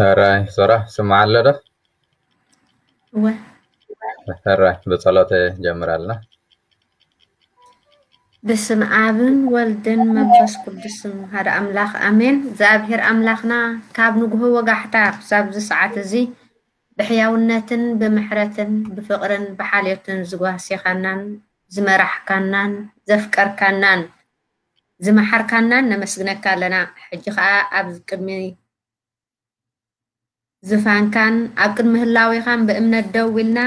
ሕራይ ሶራ፣ ስምዓ ኣሎ ዶ? እወ። ሕራይ፣ ብጸሎት ጀምራልና። በስመ ኣብን ወልድን መንፈስ ቅዱስን ሓደ ኣምላኽ ኣሜን። እግዚኣብሔር ኣምላኽና ካብ ንግሆ ወጋሕታ ክሳብ እዚ ሰዓት እዚ ብሕያውነትን ብምሕረትን ብፍቕርን ብሓልዮትን ዝጓሴኻናን ዝመራሕካናን ዘፍቀርካናን ዝመሓርካናን ነመስግነካ ኣለና። ሕጂ ኸኣ ኣብ ቅድሚ ዝፋንካን ኣብ ቅድሚ ህላዌኻን ብእምነት ደው ኢልና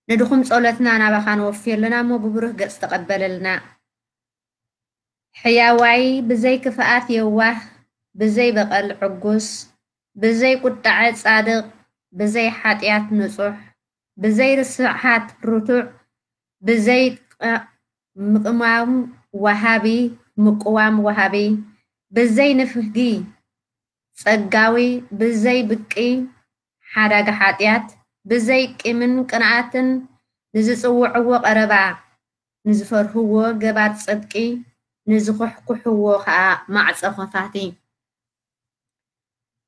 ንድኹም ጸሎትና ናባኻ ነወፍዮ ኣለና እሞ ብብሩህ ገጽ ተቐበለልና። ሕያዋይ ብዘይ ክፍኣት የዋህ ብዘይ በቐል ዕጉስ ብዘይ ቁጣዐ ጻድቕ ብዘይ ሓጢኣት ንጹሕ ብዘይ ርስሓት ርቱዕ ብዘይ ምቕማም ወሃቢ ምቅዋም ወሃቢ ብዘይ ንፍጊ ጸጋዊ ብዘይ ብቂ ሓዳጋ ሓጢኣት ብዘይ ቂምን ቅንኣትን ንዝጽውዕዎ ቀረባ ንዝፈርህዎ ገባር ጽድቂ ንዝኹሕኩሕዎ ኸኣ ማዕጾ ኸፋቲ።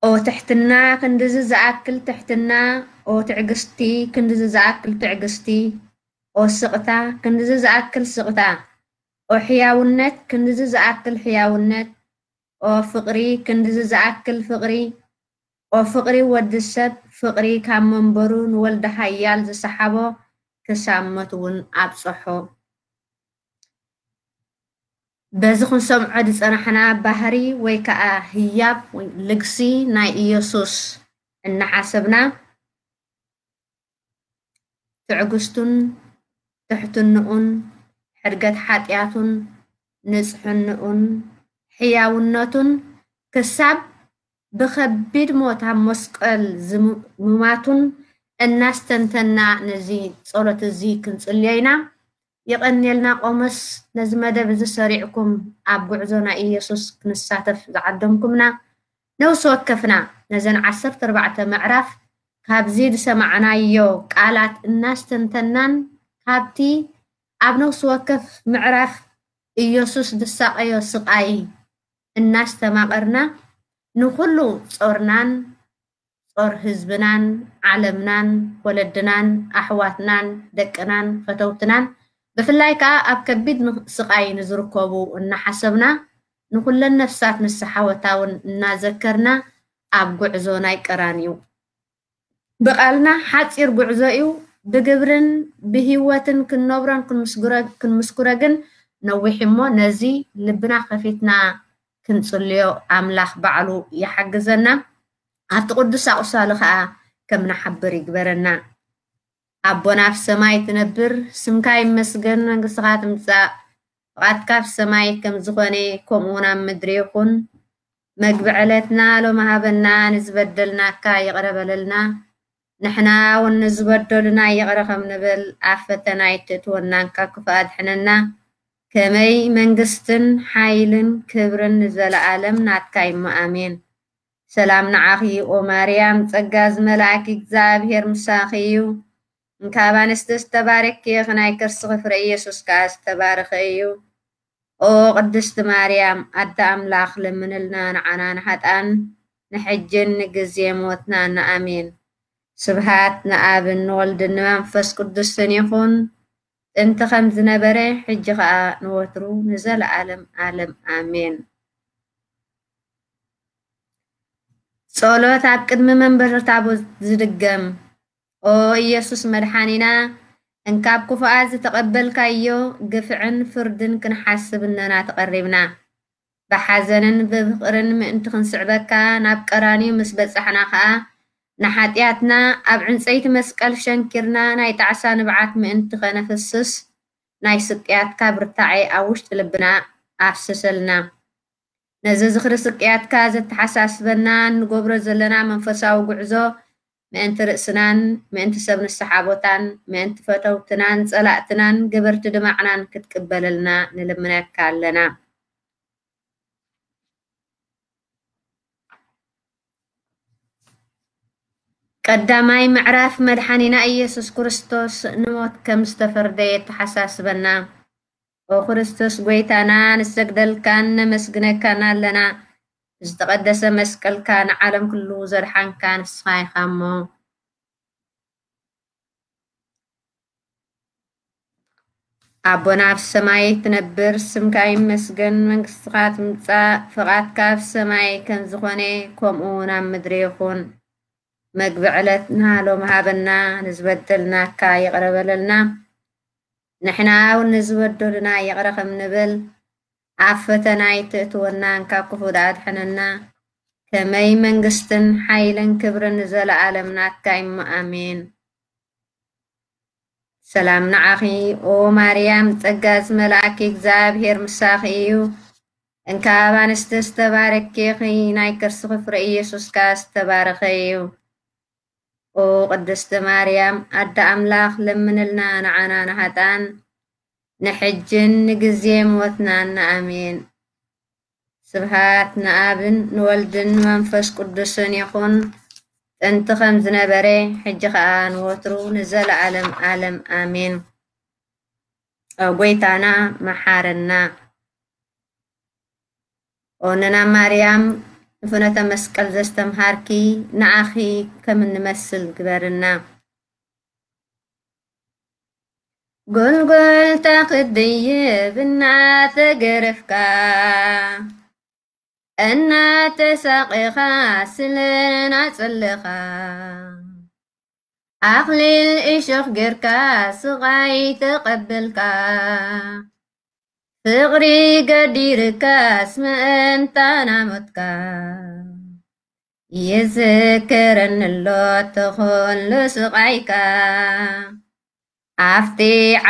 ኦ ትሕትና ክንድዚ ዝኣክል ትሕትና ኦ ትዕግስቲ ክንድዚ ዝኣክል ትዕግስቲ ኦ ስቕታ ክንድዚ ዝኣክል ስቕታ ኦ ሕያውነት ክንድዚ ዝኣክል ሕያውነት ኦ ፍቕሪ ክንድዚ ዝኣክል ፍቕሪ ኦ ፍቕሪ ወዲ ሰብ ፍቕሪ ካብ መንበሩ ንወልደ ሃያል ዝሰሓቦ ክሳብ ሞት እውን ኣብጸሖ። በዚ ክንሰምዖ ዝጸናሕና ባህሪ ወይ ከኣ ህያብ ወይ ልግሲ ናይ ኢየሱስ እናሓሰብና ትዕግስቱን ትሕትንኡን ሕድገት ሓጢኣቱን ንጽሕንኡን ሕያውነቱን ክሳብ ብኸቢድ ሞት ኣብ መስቀል ዝምማቱን እናስተንተና ነዚ ጸሎት እዚ ክንጽልዮ ኢና። የቐንየልና ቆሞስ ነዚ መደብ እዚ ሰሪዕኩም ኣብ ጉዕዞ ናይ ኢየሱስ ክንሳተፍ ዝዓደምኩምና ነውሲ ወከፍና ነዘን ዓሰርተ ኣርባዕተ ምዕራፍ ካብዚ ዝሰማዕናዮ ቃላት እናስተንተናን ካብቲ ኣብ ነውሲ ወከፍ ምዕራፍ ኢየሱስ ዝሳቐዮ ስቓይ እናስተማቐርና ንኹሉ ጾርናን ጾር ህዝብናን ዓለምናን ወለድናን ኣሕዋትናን ደቅናን ፈተውትናን ብፍላይ ከኣ ኣብ ከቢድ ስቓይ ንዝርከቡ እናሓሰብና ንኹለን ነፍሳት ንስሓወታውን እናዘከርና ኣብ ጉዕዞ ናይ ቀራንዩ ብቓልና ሓጺር ጉዕዞ እዩ። ብግብርን ብህይወትን ክንነብሮን ክንምስክሮ ግን ነዊሕ እሞ ነዚ ልብና ከፊትና ክንጽልዮ ኣምላኽ ባዕሉ ይሓግዘና። ኣብቲ ቅዱስ ኣቑሳሉ ኸኣ ከም ንሓብር ይግበረና። ኣቦና ኣብ ሰማይ ትነብር፣ ስምካ ይመስገን፣ መንግስትኻ ትምጻእ፣ ፍቓድካ ኣብ ሰማይ ከም ዝኾነ ከምኡ እውን ኣብ ምድሪ ይኹን። መግቢ ዕለትና ሎሚ ሃበና፣ ንዝበደልናካ ይቕረ በለልና፣ ንሕና እውን ንዝበደሉና ይቕረ ከም ንብል፣ ኣብ ፈተና ኣይትእትወና፣ ካብ ክፉእ ኣድሕነና። ከመይ መንግስትን ሓይልን ክብርን ንዘለኣለም ናትካ እሞ፣ ኣሜን። ሰላም ንዓኺ ኦ ማርያም፣ ጸጋ ዝመልኣኪ እግዚኣብሔር ምሳኺ እዩ። እንካብ ኣንስቲ ዝተባረኪ ኢኺ፣ ናይ ከርስኺ ፍረ ኢየሱስ ከኣ ዝተባረኸ እዩ። ኦ ቅድስቲ ማርያም ኣደ ኣምላኽ፣ ለምንልና ንዓና ንሓጣን፣ ንሕጅን ንግዜ ሞትናን። ኣሜን። ስብሃት ንኣብን ንወልድን ንመንፈስ ቅዱስን ይኹን፣ ጥንቲ ከም ዝነበረ፣ ሕጂ ኸኣ ንወትሩ ንዘለኣለም ኣለም ኣሜን። ጸሎት ኣብ ቅድሚ መንበር ታቦት ዝድገም። ኦ ኢየሱስ መድሓኒና፣ እንካብ ክፉኣት ዝተቐበልካዮ ግፍዕን ፍርድን ክንሓስብ እነና ተቐሪብና። ብሓዘንን ብፍቕርን ምእንቲ ክንስዕበካ ናብ ቀራንዮ ምስ በጻሕና ኸኣ፣ ንሓጢኣትና ኣብ ዕንጸይቲ መስቀል ሸንኪርና ናይ ጣዕሳ ንብዓት ምእንቲ ኸነፍስስ፣ ናይ ስቅያትካ ብርታዐ ኣብ ውሽጢ ልብና ኣፍስሰልና። ነዚ ዝኽሪ ስቅያትካ ዘተሓሳስበና እንገብሮ ዘለና መንፈሳዊ ጉዕዞ፣ ምእንቲ ርእስናን፣ ምእንቲ ሰብ ንስሓ ቦታን፣ ምእንቲ ፈተውትናን ጸላእትናን ገበርቲ ድማዕናን ክትቅበለልና ንልምነካ ኣለና። ቀዳማይ ምዕራፍ መድሓኒና ኢየሱስ ክርስቶስ ንሞት ከም ዝተፈርደ የተሓሳስበና። ኦ ክርስቶስ ጐይታና፣ ንሰግደልካን ነመስግነካን ኣለና። ዝተቐደሰ መስቀልካ ንዓለም ኩሉ ዘድሓንካ ንስኻ ኢኻ እሞ። ኣቦና ኣብ ሰማይ ትነብር፣ ስምካ ይመስገን፣ መንግስትኻ ትምጻእ፣ ፍቓድካ ኣብ ሰማይ ከም ዝኾነ ከምኡ እውን ኣብ ምድሪ ይኹን። መግቢ ዕለትና ሎሚ ሃበና፣ ንዝበደልናካ ይቕረ በለልና፣ ንሕና እውን ንዝበደሉና ይቕረ ከም ንብል፣ ኣብ ፈተና ኣይትእትወናን፣ ካብ ክፉእ ኣድሕነና። ከመይ መንግስትን ሓይልን ክብርን ንዘለኣለም ናትካ እሞ፣ ኣሜን። ሰላም ንዓኺ ኦ ማርያም፣ ጸጋ ዝመልኣኪ እግዚኣብሔር ምሳኺ እዩ። እንካብ ኣንስቲ ዝተባረኪ ኢኺ፣ ናይ ከርስኺ ፍረ ኢየሱስ ከኣ ዝተባረኸ እዩ። ኦ ቅድስቲ ማርያም ኣደ ኣምላኽ፣ ለምንልና ንዓና ንሃጣን፣ ንሕጅን ንግዜ ሞትናን። ኣሜን። ስብሃት ንኣብን ንወልድን ንመንፈስ ቅዱስን ይኹን፣ ጥንቲ ከም ዝነበረ፣ ሕጂ ኸኣ ንወትሩ ንዘለኣለም ኣለም ኣሜን። ኦ ጐይታና መሓረና። ኦንና ማርያም፣ ንፍኖተ መስቀል ዘስተምሃርኪ፣ ንኣኺ ከም እንመስል ግበርና። ጎልጎልታ ክትድይብ እናተገረፍካ፣ እናተሳቐኻ ስለ ናጸለኻ፣ ኣኽሊል እሾኽ ጌርካ ስቓይ ተቐበልካ፣ ፍቕሪ ገዲርካስ ምእንታና ሞትካ። ይዝክረኒ ኣሎ እቲ ኹሉ ስቓይካ፣ ኣብቲ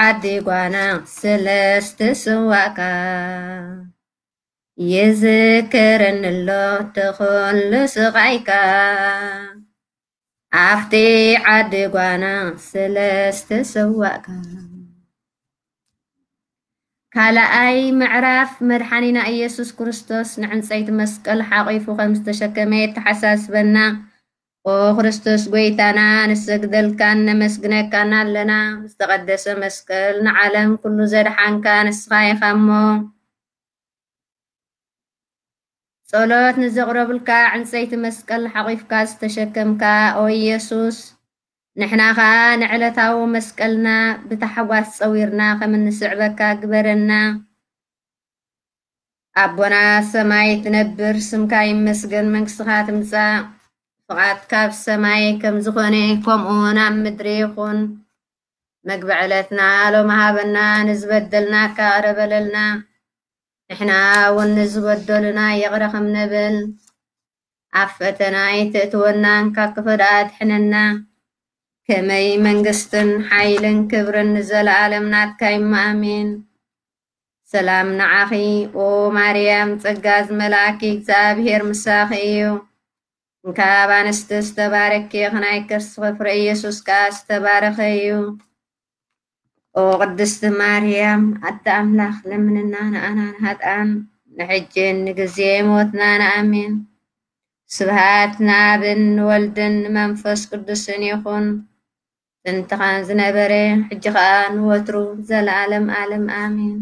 ዓዲ ጓና ስለ ዝተሰዋእካ። ይዝክረኒ ኣሎ እቲ ኹሉ ስቓይካ፣ ኣብቲ ዓዲ ጓና ስለ ዝተሰዋእካ። ካልኣይ ምዕራፍ፣ መድሓኒና ኢየሱስ ክርስቶስ ንዕንጸይቲ መስቀል ሓቒፉ ከም ዝተሸከመ የተሓሳስበና። ኦ ክርስቶስ ጐይታና፣ ንሰግደልካን ነመስግነካን ኣለና። ዝተቐደሰ መስቀል ንዓለም ኩሉ ዘድሓንካ ንስኻ ኢኻ እሞ፣ ጸሎት ንዘቕረቡልካ ዕንጸይቲ መስቀል ሓቒፍካ ዝተሸከምካ፣ ኦ ኢየሱስ፣ ንሕና ኸኣ ንዕለታዊ መስቀልና ብታሕጓስ ጸዊርና ከም እንስዕበካ ግበረና። ኣቦና ሰማይ ትነብር፣ ስምካ ይመስገን፣ መንግስትኻ ትምጻእ፣ ፍቓድካ ኣብ ሰማይ ከም ዝኾነ ከምኡ እውን ኣብ ምድሪ ይኹን። መግቢ ዕለትና ሎሚ ሃበና፣ ንዝበደልናካ ይቕረ በለልና፣ ንሕና እውን ንዝበደሉና ይቕረ ከም ንብል፣ ኣብ ፈተና ኣይተእትወናን፣ ካብ ክፉእ ኣድሕነና። ከመይ መንግስትን ሓይልን ክብርን ንዘለኣለም ናትካ እዩ። ኣሜን። ሰላም ንዓኺ፣ ኦ ማርያም፣ ጸጋ ዝመልኣኪ፣ እግዚኣብሔር ምሳኺ እዩ። እንካብ ኣንስቲ ዝተባረኪ ኢኺ፣ ናይ ከርስኺ ፍረ ኢየሱስ ከኣ ዝተባረኸ እዩ። ኦ ቅድስቲ ማርያም፣ ኣደ ኣምላኽ፣ ለምንና ንኣና ንሃጥኣን፣ ንሕጅን ንግዜ ሞትና። ኣሜን። ስብሃት ንኣብን ንወልድን ንመንፈስ ቅዱስን ይኹን። ጥንቲ ከም ዝነበረ፣ ሕጂ ኸኣ ንወትሩ፣ ዘለኣለም ኣለም። ኣሜን።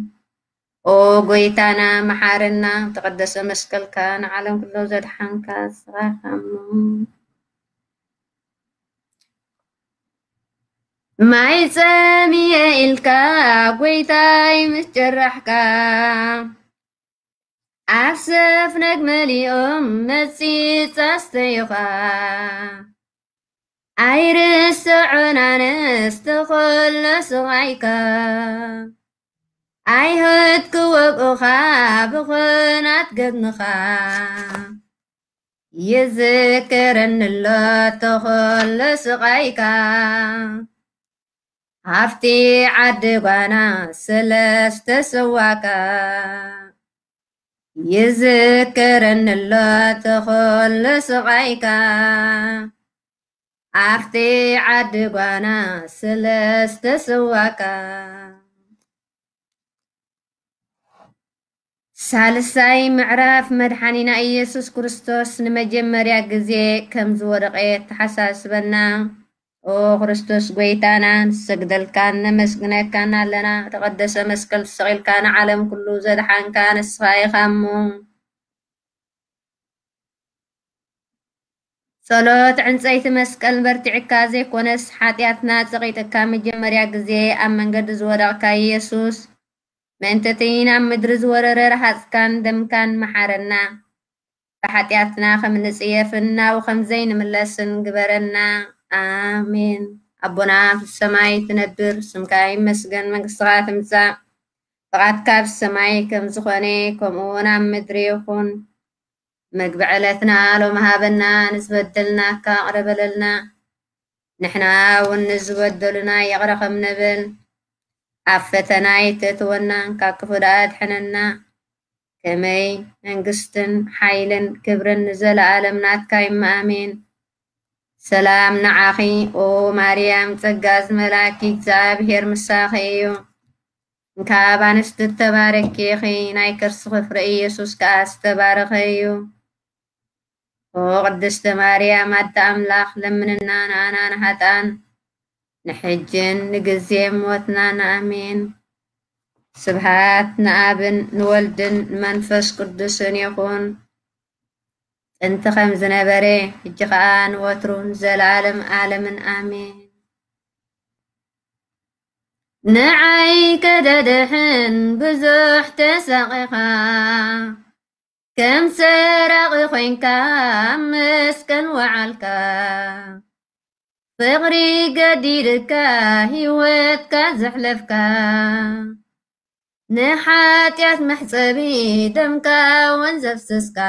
ኦ ጎይታና፣ መሓረና፣ ተቐደሰ መስቀልካ ንዓለም ኩሎ ዘድሓንካ ንስኻ ኢኻ እሞ። ማይ ጸምየ ኢልካ፣ ጎይታይ፣ ምስ ጀራሕካ፣ ኣብ ሰፍነግ መሊኦም መጺጽ ኣስተዩኻ። ኣይርስዖን ኣነስ ተኸሎ ስቓይካ። ኣይሁድ ክወግኡኻ ብኹናት ገድምኻ። ይዝክረኒ ኣሎ ተኸሎ ስቓይካ። ሃፍቲ ዓዲ ጓና ስለ ዝተሰዋካ። ይዝክረኒ ኣሎ ተኸሎ ስቓይካ። ኣብቲ ዓዲ ጓና ስለ ዝተሰዋካ። ሳልሳይ ምዕራፍ። መድሓኒና ኢየሱስ ክርስቶስ ንመጀመርያ ግዜ ከም ዝወደቐ ተሓሳስበና። ኦ ክርስቶስ ጎይታና፣ ንሰግደልካን ነመስግነካን ኣለና። ተቐደሰ መስቀል ተሰቒልካ ንዓለም ኩሉ ዘድሓንካ ንስኻ ኢኻ እሞ። ጸሎት ዕንጸይቲ መስቀል በርቲዕካ ዘይኮነስ፣ ሓጢኣትና ጸቒጥካ መጀመርያ ግዜ ኣብ መንገዲ ዝወደቕካ ኢየሱስ፣ ምእንተቲ ናብ ምድሪ ዝወረደ ረሃጽካን ደምካን መሓረና። ብሓጢኣትና ከም ንጽየፍን ናብኡ ከም ዘይንምለስን ግበረና። ኣሜን። ኣቦና ኣብ ሰማይ ትነብር፣ ስምካ ይመስገን፣ መንግስትኻ ትምጻእ፣ ፍቓድካ ኣብ ሰማይ ከም ዝኾነ ከምኡ እውን ኣብ ምድሪ ይኹን። መግቢ ዕለትና ሎም ሃበና፣ ንዝበደልናካ ይቕረ በለልና፣ ንሕና እውን ንዝበደሉና ይቕረ ከም ንብል። ኣብ ፈተና ኣይተእትወና፣ ካብ ክፉእ ደኣ ኣድሕነና። ከመይ መንግስትን ሓይልን ክብርን ንዘለኣለም ናትካ እዩ። ኣሜን። ሰላም ንዓኺ ኦ ማርያም፣ ጸጋ ዝመላኪ እግዚኣብሔር ምሳኺ እዩ። እንካብ ኣንስቲ እተባረኪ ኢኺ፣ ናይ ከርስኺ ፍረ ኢየሱስ ከኣ ዝተባረኸ እዩ። ኦ ቅድስተ ማርያም ኣደ ኣምላኽ፣ ለምንና ንኣና ንሃጣን፣ ንሕጅን ንግዜ ሞትናን። ኣሜን። ስብሃት ንኣብን ንወልድን ንመንፈስ ቅዱስን ይኹን። ጥንቲ ከም ዝነበረ፣ ሕጂ ኸኣ ንወትሩን ዘለኣለም ኣለምን። ኣሜን። ንዓይ ከደድሕን ብዙሕ ተሰቒኻ፣ ከም ሰራቒ ኮይንካ ኣብ መስቀል ወዓልካ። ፍቕሪ ገዲድካ፣ ህይወትካ ዘሕለፍካ፣ ንሓጢኣት መሕጸቢ ደምካ እውን ዘፍሰስካ።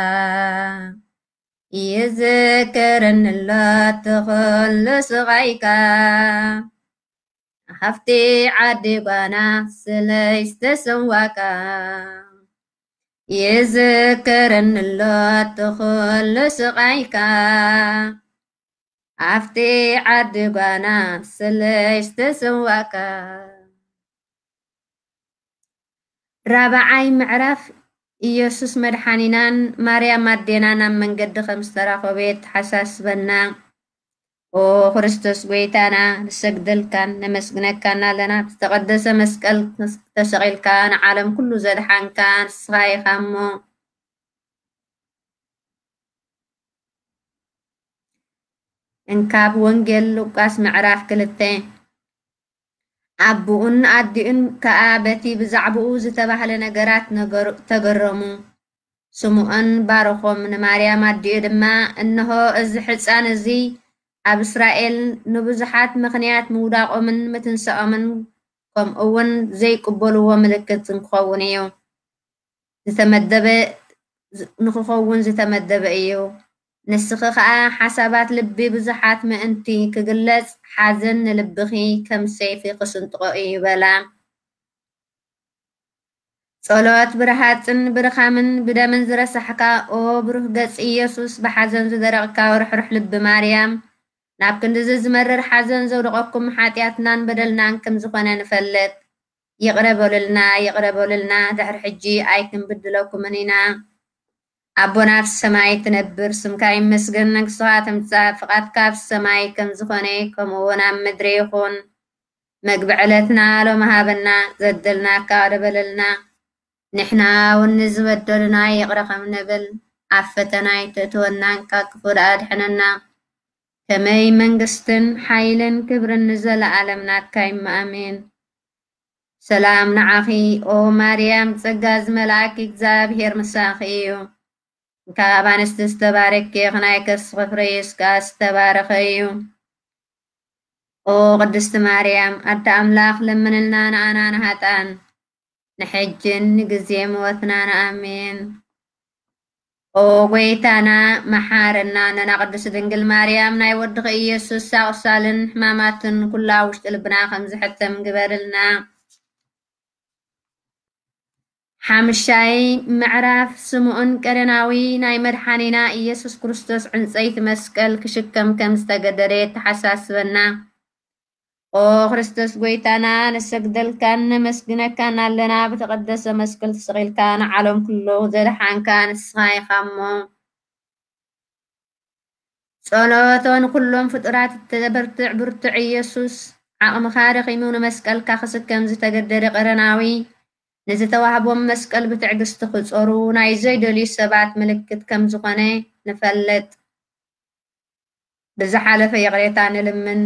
ይዝከረኒ ኣሎ እቲ ኹሉ ስቓይካ፣ ሃፍቲ ዓዲ ጓና ስለይ ዝተሰዋእካ። ይዝከረኒ ኣሎ እቲ ኹሉ ስቓይካ፣ ኣብቲ ዓዲ ጓና ስለይ ዝተሰዋእካ። ራብዓይ ምዕራፍ። ኢየሱስ መድሓኒናን ማርያም ኣዴናን ኣብ መንገዲ ከም ዝተራኸቡ የተሓሳስበና። ኦ ክርስቶስ ጎይታና፣ ንሰግደልካን ነመስግነካን ኣለና። ብዝተቐደሰ መስቀል ተሰቒልካ ንዓለም ኩሉ ዘድሓንካ ንስኻ ኢኻ እሞ። እንካብ ወንጌል ሉቃስ ምዕራፍ ክልተ። ኣቦኡን ኣዲኡን ከኣ በቲ ብዛዕባኡ ዝተባህለ ነገራት ነገሩ-፣ ተገረሙ። ስምዖን ባረኾም፣ ንማርያም ኣዲኡ ድማ፣ እንሆ እዚ ሕጻን እዚ ኣብ እስራኤል ንብዙሓት ምኽንያት ምውዳቖምን ምትንሳኦምን፣ ከምኡ እውን ዘይቅበልዎ ምልክት ክኸውን እዩ። ዝተመደበ ዝ-፣ ንኽኸውን ዝተመደበ እዩ። ንስኺ ኸኣ ሓሳባት ልቢ ብዙሓት ምእንቲ ክግለጽ፣ ሓዘን ንልብኺ ከም ሰይፊ ክስንጥቖ እዩ በላ። ጸሎት ብረሃጽን ብድኻምን ብደምን ዝረሳሕካ፣ ኦ ብሩህ ገጽ ኢየሱስ፣ ብሓዘን ዝደረቕካ ርሕሩሕ ልቢ ማርያም፣ ናብ ክንድዚ ዝመርር ሓዘን ዘውደቐኩም ሓጢኣትናን በደልናን ከም ዝኾነ ንፈልጥ። ይቕረ በሉልና፣ ይቕረ በሉልና፣ ድሕሪ ሕጂ ኣይክንብድለኩምን ኢና። ኣቦና ኣብ ሰማይ ትነብር፣ ስምካ ይመስገን፣ መንግስትኻ ትምጻእ፣ ፍቓድካ ኣብ ሰማይ ከም ዝኾነ ከምኡ እውን ኣብ ምድሪ ይኹን። መግቢ ዕለትና ሎሚ ሃበና፣ ዘደልናካ ይቕረ በለልና፣ ንሕና እውን ንዝበደሉና ይቕረ ከም ንብል፣ ኣብ ፈተና ኣይተእትወና፣ ካብ ክፉእ ደኣ ኣድሕነና። ከመይ መንግስትን ሓይልን ክብርን ንዘለኣለም ናትካ እዩ፣ ኣሜን። ሰላም ንዓኺ ኦ ማርያም፣ ጸጋ ዝመልኣኪ እግዚኣብሔር ምሳኺ እዩ። ካብ ኣንስቲ ዝተባረኪ ኢኺ፣ ናይ ከርስኺ ፍረ ኢየሱስ ከኣ ዝተባረኸ እዩ። ኦ ቅድስቲ ማርያም ኣደ ኣምላኽ፣ ለምንልና ንኣና ንሃጣን፣ ንሕጅን ንግዜ ሞትናን። ኣሜን። ኦ ጎይታና መሓረና፣ ነና ቅድስቲ ድንግል ማርያም ናይ ወድኺ ኢየሱስ ኣቑሳልን ሕማማትን ኩላ ውሽጢ ልብና ከም ዝሕተም ግበርልና። ሓምሻይ ምዕራፍ፣ ስምዖን ቀሬናዊ ናይ መድሓኒና ኢየሱስ ክርስቶስ ዕንጸይቲ መስቀል ክሽከም ከም ዝተገደደ የተሓሳስበና። ኦ ክርስቶስ ጎይታና፣ ንሰግደልካን ነመስግነካን ኣለና። ብተቐደሰ መስቀል ተሰቒልካ ንዓለም ኩሉ ዘድሓንካ ንስኻ ኢኻ እሞ። ጸሎቶ ንኩሎም ፍጡራት እተበርትዕ ብርቱዕ ኢየሱስ፣ ዓቕምኻ ደኺሙ ንመስቀልካ ክስከም ዝተገደደ ቀረናዊ፣ ንዝተዋህቦም መስቀል ብትዕግስቲ ክጾሩ ናይ ዘይደልዩ ሰባት ምልክት ከም ዝኾነ ንፈልጥ። ብዝሓለፈ ይቕሬታ ንልምን፣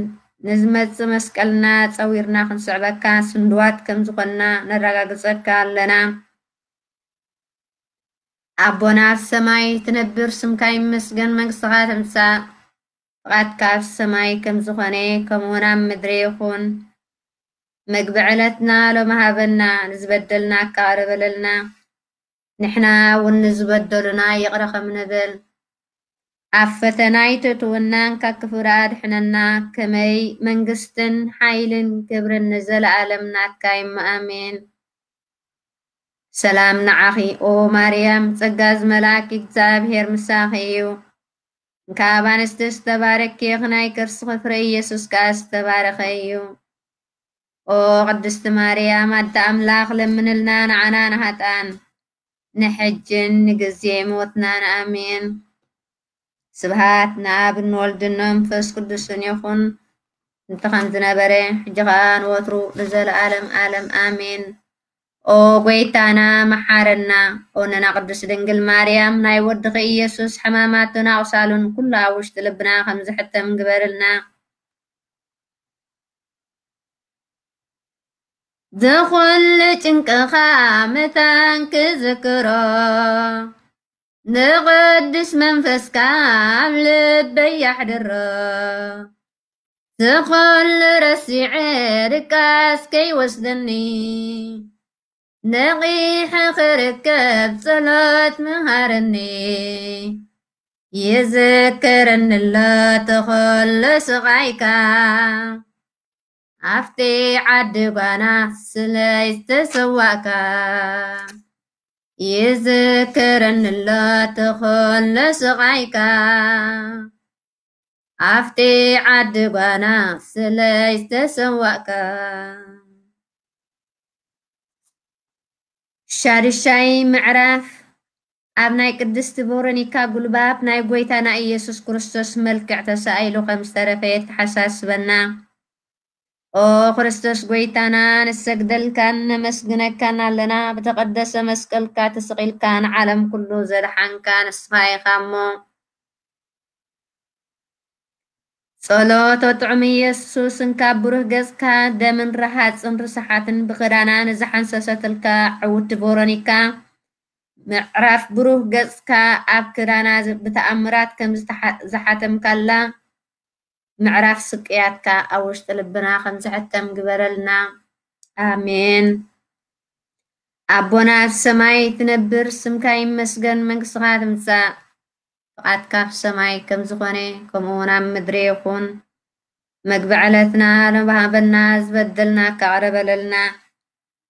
ንዝመጽእ መስቀልና ጸዊርና ክንስዕበካ ስንድዋት ከም ዝኾንና ነረጋግጸካ ኣለና። ኣቦና ኣብ ሰማይ ትነብር፣ ስምካ ይመስገን፣ መንግስትኻ ትምጻእ፣ ፍቓድካ ኣብ ሰማይ ከም ዝኾነ ከምኡ እውን ኣብ ምድሪ ይኹን። መግቢ ዕለትና ሎሚ ሃበና፣ ንዝበደልናካ ይቕረ በለልና፣ ንሕና እውን ንዝበደሉና ይቕረ ከም ንብል። ኣብ ፈተና ኣይተእትወናን፣ ካብ ክፉእ ኣድሕነና። ከመይ መንግስትን ሓይልን ክብርን ንዘለኣለም ናትካ እዩ፣ ኣሜን። ሰላም ንዓኺ ኦ ማርያም፣ ጸጋ ዝመልኣኪ እግዚኣብሔር ምሳኺ እዩ። ካብ ኣንስቲ ዝተባረኪ ኢኺ፣ ናይ ከርስኺ ፍረ ኢየሱስ ከኣ ዝተባረኸ እዩ። ኦ ቅድስቲ ማርያም ኣደ ኣምላኽ፣ ለምንልና ንዓና ንሃጣን፣ ንሕጅን ንግዜ ሞትናን። ኣሜን። ስብሃት ንኣብ ንወልድን ንመንፈስ ቅዱስን ይኹን፣ እንተ ከም ዝነበረ፣ ሕጂ ኸኣ ንወትሩ ንዘለኣለም ኣለም ኣሜን። ኦ ጎይታና መሓረና፣ ኦነና ቅድስት ድንግል ማርያም፣ ናይ ወድኺ ኢየሱስ ሕማማቱን ኣቑሳሉን ኩሉ ኣብ ውሽጢ ልብና ከም ዝሕተም ግበርልና። ዝኹሉ ጭንቅኻ መታን ክዝክሮ፣ ንቕዱስ መንፈስካ ኣብ ልበይ ኣሕድሮ። ዝኹሉ ረሲዐ ድቃስ ከይወስደኒ፣ ነቒሐ ክርከብ ጸሎት ምሃረኒ። ይዝክረኒ ኣሎ እቲ ኹሉ ስቓይካ፣ ኣብቲ ዓዲ ጓና ስለ ዝተሰዋእካ። ይዝክረኒ ኣሎ እቲ ኹሉ ስቓይካ፣ ኣብቲ ዓዲ ጓና ስለ ዝተሰዋእካ። ሻድሻይ ምዕራፍ፣ ኣብ ናይ ቅድስቲ ቬሮኒካ ጉልባብ ናይ ጐይታና ኢየሱስ ክርስቶስ መልክዕ ተሳኢሉ ከም ዝተረፈ የተሓሳስበና። ኦ ክርስቶስ ጐይታና፣ ንሰግደልካን ነመስግነካን ኣለና። ብተቐደሰ መስቀልካ ተሰቒልካ ንዓለም ኩሉ ዘድሓንካ ንስኻ ኢኻ እሞ። ጸሎት ጥዑም ኢየሱስ፣ እንካብ ብሩህ ገጽካ ደምን ረሃጽን ርስሓትን ብክዳና ንዝሓንሰሰትልካ ዕውቲ ቬሮኒካ፣ ምዕራፍ ብሩህ ገጽካ ኣብ ክዳና ዝ-፣ ብተኣምራት ከም ዝተሓ-፣ ዝሓተምካላ፣ ምዕራፍ ስቅያትካ ኣብ ውሽጢ ልብና ከም ዝሕተም ግበረልና። ኣሜን። ኣቦና ኣብ ሰማይ ትነብር፣ ስምካ ይመስገን፣ መንግስትኻ ትምጻእ፣ ፍቓድካ ኣብ ሰማይ ከም ዝኾነ ከምኡ እውን ኣብ ምድሪ ይኹን። መግቢ ዕለትና ሎም ሃበና፣ ዝበደልና ካቕረ በለልና፣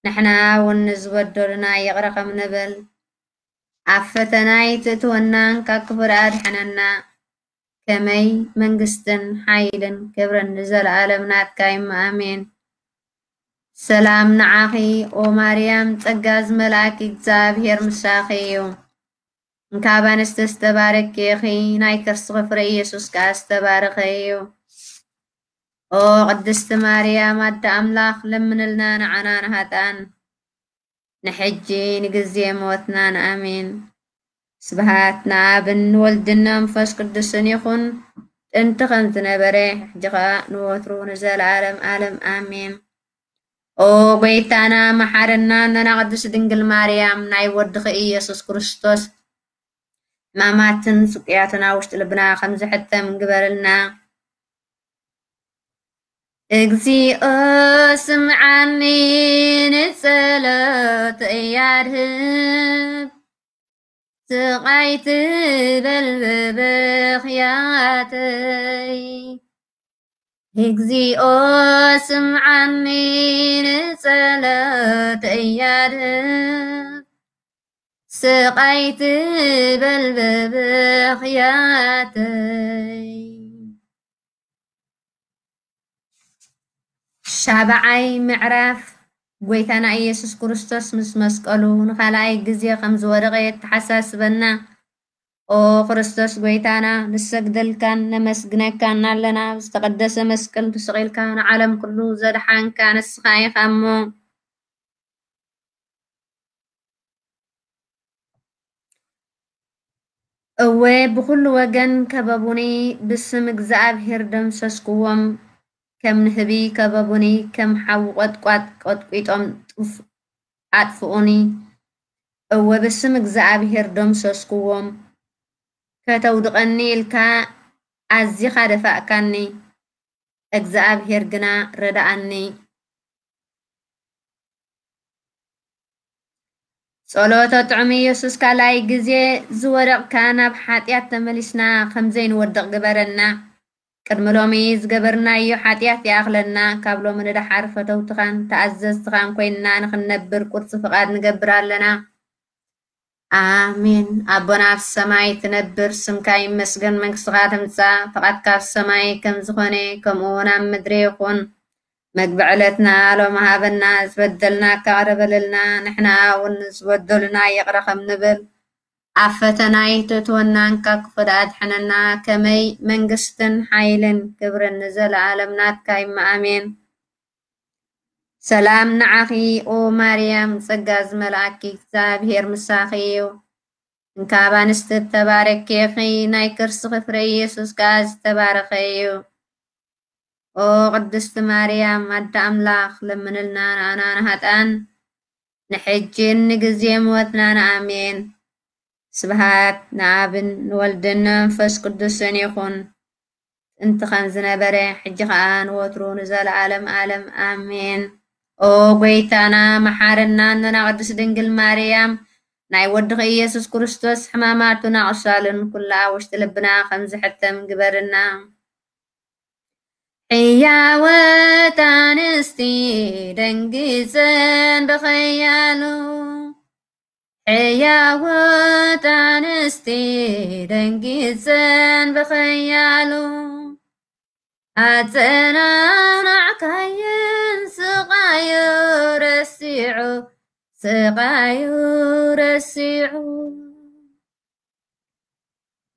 ንሕና እውን ንዝበደሉና ይቕረ ከም ንብል፣ ኣብ ፈተና ኣይትእትወናን ካብ ክፉእ ኣድሕነና። ከመይ መንግስትን ሓይልን ክብርን ንዘለኣለም ናትካ እዩ። ኣሜን። ሰላም ንዓኺ ኦ ማርያም፣ ጸጋ ዝመልኣኪ እግዚኣብሔር ምሳኺ እዩ። እንካብ ኣንስቲ ዝተባረኪ ኢኺ፣ ናይ ከርስኺ ፍረ ኢየሱስ ከኣ ዝተባረኸ እዩ። ኦ ቅድስቲ ማርያም ኣደ ኣምላኽ፣ ለምንልና ንዓና ንሃጣን፣ ንሕጂ ንግዜ ሞትናን። ኣሜን። ስብሃት ንኣብን ንወልድን መንፈስ ቅዱስን ይኹን፣ ጥንቲ ከም ዝነበረ፣ ሕጂ ኸኣ ንወትሩ ንዘለኣለም ኣለም ኣሜን። ኦ ጎይታና መሓረና፣ ነና ቅድስት ድንግል ማርያም ናይ ወድኺ ኢየሱስ ክርስቶስ ሕማማትን ስቅያትን ኣብ ውሽጢ ልብና ከም ዝሕተም ግበርልና። እግዚኣብሔር ስምዓኒ ንጸሎተይ ኣድህብ፣ ስቓይ ትበል ብብኽያተይ። እግዚኣብሔር ስምዓኒ ንጸሎተይ ኣድህብ፣ ስቓይ ትበል ብብኽያተይ። ሻብዓይ ምዕራፍ፣ ጎይታና ኢየሱስ ክርስቶስ ምስ መስቀሉ ንኻልኣይ ግዜ ከም ዝወደቐ የተሓሳስበና። ኦ ክርስቶስ ጎይታና፣ ንሰግደልካን ነመስግነካን ኣለና። ዝተቐደሰ መስቀል ተሰቒልካ ንዓለም ኩሉ ዘድሓንካ ንስኻ ኢኻ እሞ። እወ፣ ብኹሉ ወገን ከበቡኒ፣ ብስም እግዚኣብሔር ደምሰስክዎም። ከም ንህቢ ከበቡኒ፣ ከም ሓዊ ቈጥቋጥ ቀጥቂጦም ጥፍ-፣ ኣጥፍኡኒ። እወ፣ ብስም እግዚኣብሔር ደምሰስክዎም። ከተውድቐኒ ኢልካ ኣዚኻ ደፋእካኒ፣ እግዚኣብሔር ግና ረድኣኒ። ጸሎተ ጥዑም ኢየሱስ፣ ካልኣይ ግዜ ዝወደቕካ ናብ ሓጢኣት ተመሊስና ከም ዘይንወድቕ ግበረና። ቅድሚ ሎሚ ዝገበርናዮ ሓጢኣት ይኣኽለና። ካብ ሎሚ ንደሓር ፈተውትኻን ተኣዘዝትኻን ኮይንና ንኽንነብር ቁርጺ ፍቓድ ንገብር ኣለና። ኣሜን። ኣቦና ኣብ ሰማይ ትነብር፣ ስምካ ይመስገን፣ መንግስትኻ ትምጻእ፣ ፍቓድካ ኣብ ሰማይ ከም ዝኾነ ከምኡ እውን ኣብ ምድሪ ይኹን። መግቢ ዕለትና ሎሚ ሃበና፣ ዝበደልናካ ይቕረ በለልና፣ ንሕና እውን ዝበደሉና ይቕረ ከም ንብል። ኣብ ፈተና ኣይተእትወናን ካብ ክፉእ ኣድሕነና። ከመይ መንግስትን ሓይልን ክብርን ንዘለኣለም ናትካ እዩ። ኣሜን። ሰላም ንዓኺ ኦ ማርያም፣ ጸጋ ዝመልኣኪ እግዚኣብሔር ምሳኺ እዩ። እንካብ ኣንስቲ እተባረኪ ኢኺ፣ ናይ ከርስኺ ፍረ ኢየሱስ ከኣ ዝተባረኸ እዩ። ኦ ቅድስቲ ማርያም ኣደ ኣምላኽ፣ ለምንልና ንኣና ንሃጣን፣ ንሕጅን ንግዜ ሞትናን። ኣሜን። ስብሃት ንኣብን ንወልድን ንመንፈስ ቅዱስን ይኹን፣ ጥንቲ ከም ዝነበረ፣ ሕጂ ኸኣ ንወትሩ ንዘለኣለም ኣለም። ኣሜን። ኦ ጎይታና መሓረና፣ ኣኖና ቅድስት ድንግል ማርያም፣ ናይ ወድኺ ኢየሱስ ክርስቶስ ሕማማቱን ኣቕሳሉን ኩላ ኣብ ውሽጢ ልብና ከም ዝሕተም ግበርና። ሕያወት ኣንስቲ ደንጊጸን ብኸያሉ፣ ሕያወት ኣንስቲ ደንጊጸን ብኸያሉ፣ ኣጸናናዕካየን ስቓዩ ረሲዑ፣ ስቓዩ ረሲዑ።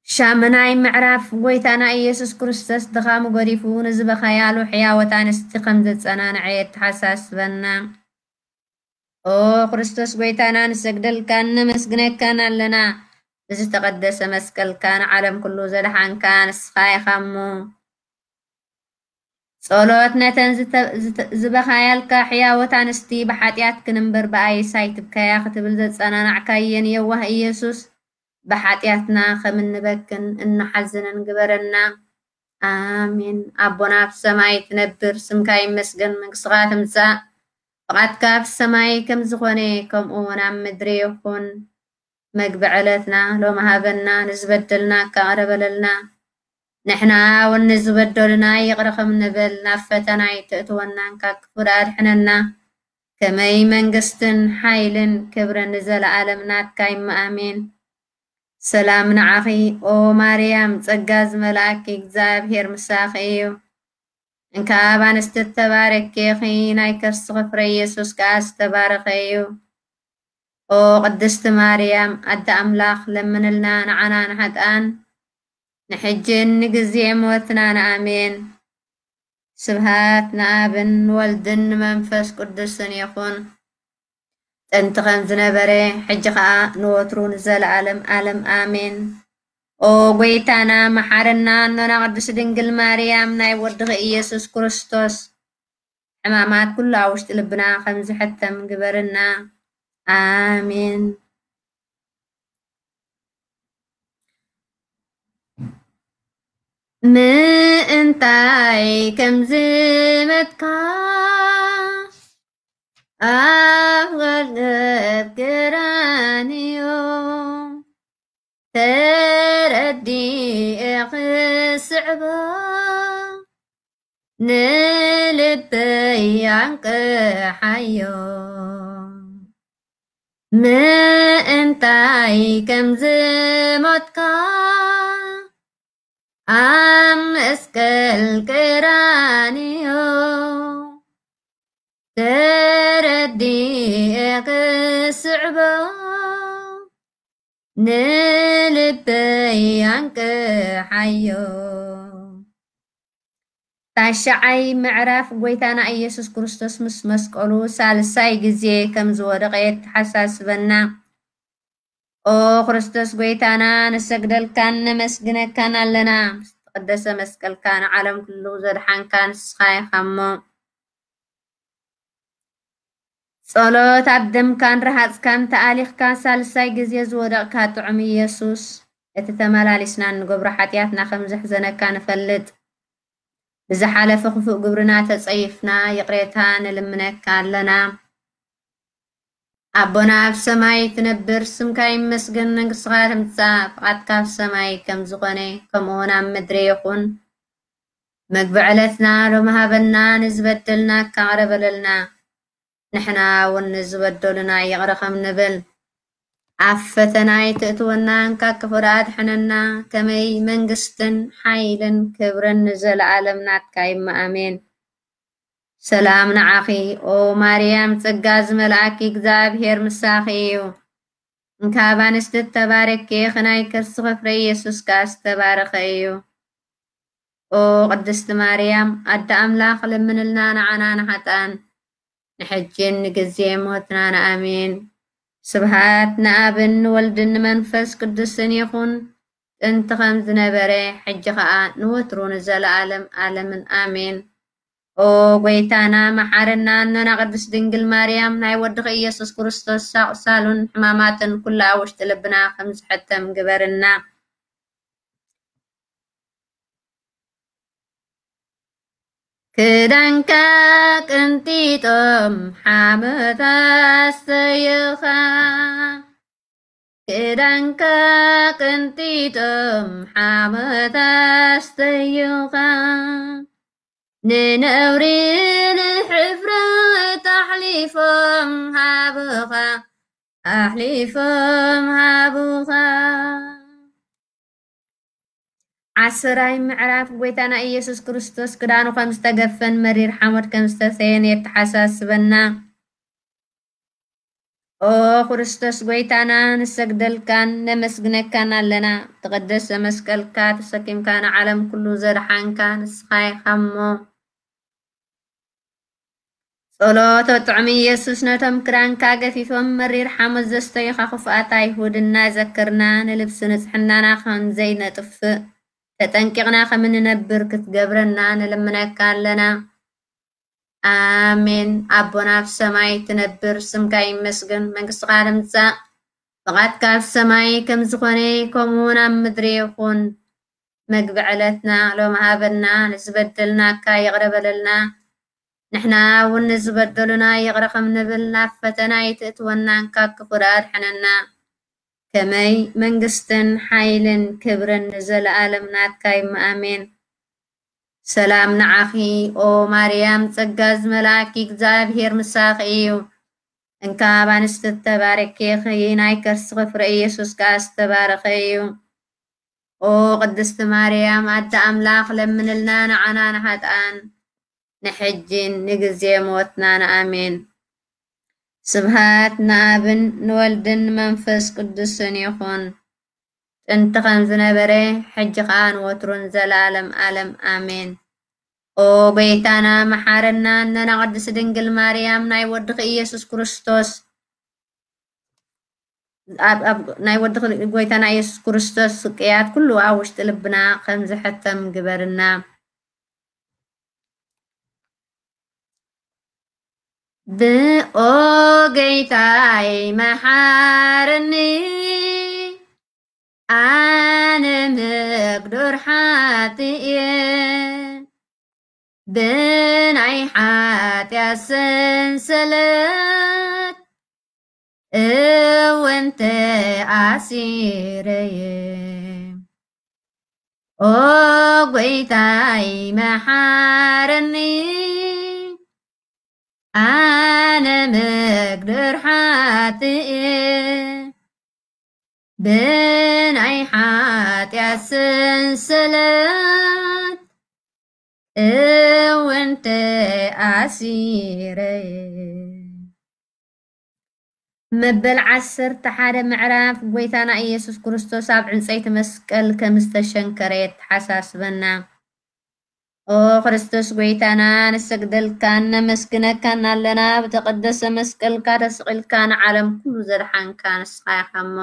ሻምናይ ምዕራፍ፣ ጎይታና ኢየሱስ ክርስቶስ ድኻሙ ገዲፉ ንዝበኸያሉ ሕያወት ኣንስቲ ከም ዘጸናንዐ የተሓሳስበና። ኦ ክርስቶስ ጎይታና፣ ንሰግደልካን ነመስግነካን ኣለና። ብዝተቐደሰ መስቀልካ ንዓለም ኩሉ ዘድሓንካ ንስኻ ኢኻ እሞ። ጸሎት ነተን ዝተ-፣ ዝተ-፣ ዝበኻያልካ ሕያወት ኣንስቲ፣ ብሓጢኣትክን እምበር ብኣይስ ኣይትብከያ ክትብል ዘጸናናዕካየን የዋህ ኢየሱስ፣ ብሓጢኣትና ከም እንበክን እንሓዝንን ግበረና። ኣሜን። ኣቦና ኣብ ሰማይ ትነብር፣ ስምካ ይመስገን፣ መንግስትኻ ትምጻእ፣ ፍቓድካ ኣብ ሰማይ ከም ዝኾነ፣ ከምኡ እውን ኣብ ምድሪ ይኹን። መግቢ ዕለትና ሎሚ ሃበና፣ ንዝበደልና እካ ይቕረ በለልና፣ ንሕና እውን ንዝበደሉና ይቕረ ከም ንብል፣ ናብ ፈተና ኣይተእትወና፣ ካብ ክፉእ ኣድሕነና። ከመይ መንግስትን ሓይልን ክብርን ንዘለኣለም ናትካ እዩ፣ ኣሜን። ሰላም ንዓኺ ኦ ማርያም፣ ጸጋ ዝመልኣኪ እግዚኣብሔር ምሳኺ እዩ። እንካ ኣብ ኣንስቲ እተባረኪ ኢኺ፣ ናይ ከርስኺ ፍረ ኢየሱስ ከኣ ዝተባረኸ እዩ። ኦ ቅድስቲ ማርያም ኣደ ኣምላኽ፣ ለምንልና ንዓና ንሓጥኣን፣ ንሕጅን ንግዜ ሞትናን። ኣሜን። ስብሃት ንኣብን ንወልድን ንመንፈስ ቅዱስን ይኹን። ጥንቲ ከም ዝነበረ፣ ሕጂ ኸኣ ንወትሩ ንዘለኣለም ኣለም ኣሜን። ኦ ጎይታና መሓረና፣ ኣኖና ቅድስት ድንግል ማርያም፣ ናይ ወድኺ ኢየሱስ ክርስቶስ ሕማማት ኩሉ ኣብ ውሽጢ ልብና ከም ዝሕተም ግበርና። ኣሜን። ምእንታይ ከም ዝመትካ ኣብ ገርገብ ገራንዮ ተረዲኤ ክስዕቦ ንልበይ ኣንቅሓዮ። ምእንታይ ከም ዝሞትካ ኣብ መስቀል ቀራንዮ ተረዲኤ ክስዕቦ ንልበይ ኣንቅሓዮ። ታሽዓይ ምዕራፍ ጎይታና ኢየሱስ ክርስቶስ ምስ መስቀሉ ሳልሳይ ግዜ ከም ዝወደቐ የተሓሳስበና። ኦ ክርስቶስ ጎይታና፣ ንሰግደልካን ነመስግነካን ኣለና። ምስ ተቐደሰ መስቀልካ ንዓለም ኩሉ ዘድሓንካ ንስኻ ኢኻ እሞ፣ ጸሎት ኣብ ደምካን ረሃጽካን ተኣሊኽካ ሳልሳይ ግዜ ዝወደቕካ ጥዑም ኢየሱስ፣ እቲ ተመላሊስና እንገብሮ ሓጢኣትና ከም ዘሕዘነካ ንፈልጥ። ብዝሓለፈ ክፉእ ግብርና ተጸይፍና ይቕሬታ ንልምነካ ኣለና። ኣቦና ኣብ ሰማይ ትነብር፣ ስምካ ይመስገን፣ መንግስትኻ ትምጻእ፣ ፍቓድካ ኣብ ሰማይ ከም ዝኾነ ከምኡ እውን ኣብ ምድሪ ይኹን። መግቢ ዕለትና ሎሚ ሃበና፣ ንዝበደልና እካ ይቕረ በለልና፣ ንሕና እውን ንዝበደሉና ይቕረ ከም ንብል። ኣብ ፈተና ኣይትእትወና፣ እንካ ክፉእ ኣድሕነና፣ ከመይ መንግስትን ሓይልን ክብርን ንዘለኣለም ናትካ እዩ፣ ኣሜን። ሰላም ንዓኺ ኦ ማርያም፣ ጸጋ ዝመልኣኪ እግዚኣብሔር ምሳኺ እዩ። እንካ ኣብ ኣንስቲ እተባረኪ ኢኺ፣ ናይ ከርስኺ ፍረ ኢየሱስ ከኣ ዝተባረኸ እዩ። ኦ ቅድስቲ ማርያም ኣደ ኣምላኽ፣ ለምንልና ንዓና ንሓጥኣን፣ ንሕጅን ንግዜ ሞትናን። ኣሜን። ስብሃት ንኣብን ንወልድን ንመንፈስ ቅዱስን ይኹን፣ ጥንቲ ከም ዝነበረ፣ ሕጂ ኸኣ ንወትሩ ንዘለኣለም ኣለምን። ኣሜን። ኦ ጎይታና መሓረና፣ ኣኖና ቅድስት ድንግል ማርያም፣ ናይ ወድኺ ኢየሱስ ክርስቶስ ኣቑሳሉን ሕማማትን ኩሉ ኣብ ውሽጢ ልብና ከም ዝሕተም ግበርና። ክዳንካ ቅንጢጦም ሓመታ ኣስተይኻ፣ ክዳንካ ቅንጢጦም ሓመታ ኣስተይኻ፣ ንነውሪ ንሕፍረት ኣሕሊፎም ሃብኻ፣ ኣሕሊፎም ሃብኻ። ዓሰራይ ምዕራፍ ጎይታና ኢየሱስ ክርስቶስ ክዳኑ ከም ዝተገፈን መሪር ሓሞት ከም ዝተሰየን የተሓሳስበና። ኦ ክርስቶስ ጎይታና፣ ንሰግደልካን ነመስግነካን ኣለና። ተቐደሰ መስቀልካ ተሰኪምካ ንዓለም ኩሉ ዘድሓንካ ንስኻ ኢኻ እሞ። ጸሎተ ጥዑም ኢየሱስ ነቶም ክዳንካ ገፊፎም መሪር ሓሞት ዘስተዩኻ ክፉኣት ኣይሁድ እናዘከርና፣ ንልብሲ ንጽሕናና ከም ዘይነጥፍእ ተጠንቂቕና ከም እንነብር ክትገብረና ንልምነካ ኣለና። ኣሜን። ኣቦና ኣብ ሰማይ ትነብር፣ ስምካ ይመስገን፣ መንግስትኻ ትምጻእ፣ ፍቓድካ ኣብ ሰማይ ከም ዝኾነ ከምኡ እውን ኣብ ምድሪ ይኹን። መግቢ ዕለትና ሎም ሃበና፣ ንዝበደልናካ ይቕረ በለልና፣ ንሕና እውን ንዝበደሉና ይቕረ ከም ንብል፣ ናብ ፈተና ኣይትእትወናን ካብ ክፉእ ኣድሕነና። ከመይ መንግስትን ሓይልን ክብርን ንዘለኣለም ናትካ እዩ። ኣሜን። ሰላም ንዓኺ ኦ ማርያም፣ ጸጋ ዝመልኣኪ እግዚኣብሔር ምሳኺ እዩ። እንካ ኣብ ኣንስቲ እተባረኪ ኢኺ፣ ናይ ከርስኺ ፍረ ኢየሱስ ከኣ ዝተባረኸ እዩ። ኦ ቅድስቲ ማርያም ኣደ ኣምላኽ፣ ለምንልና ንዓና ንሓጥኣን፣ ንሕጅን ንግዜ ሞትናን። ኣሜን። ስብሃት ንኣብን ንወልድን ንመንፈስ ቅዱስን ይኹን። ጥንቲ ከም ዝነበረ፣ ሕጂ ኸኣ ንወትሩን ዘላለም ኣለም። ኣሜን። ኦ ጎይታና መሓረና፣ ነና ቅድስት ድንግል ማርያም፣ ናይ ወድኺ ኢየሱስ ክርስቶስ፣ ኣብ፣ ኣብ፣ ናይ ወድኺ ጎይታና ኢየሱስ ክርስቶስ ስቅያት ኩሉ ኣብ ውሽጢ ልብና ከም ዝሕተም ግበርና። ብኦ ጎይታይ መሓረኒ፣ ኣነ መግዱር ሓጥእ እየ፣ ብናይ ሓጢኣት ሰንሰለት እውን ተኣሲረ እየ። ኦ ጎይታይ መሓረኒ፣ ኣነ መግደር ሓጥእ እየ፣ ብናይ ሓጢኣት ሰንሰለት እውን ተኣሲረ እየ። መበል ዓሰርተ ሓደ ምዕራፍ ጎይታና ኢየሱስ ክርስቶስ ኣብ ዕንጸይቲ መስቀል ከም ዝተሸንከረ የተሓሳስበና። ኦ ክርስቶስ ጎይታና፣ ንሰግደልካን ነመስግነካን ኣለና። ብተቐደሰ መስቀልካ ተስቒልካ ንዓለም ኩሉ ዘድሓንካ ንስኻ ኢኻ እሞ።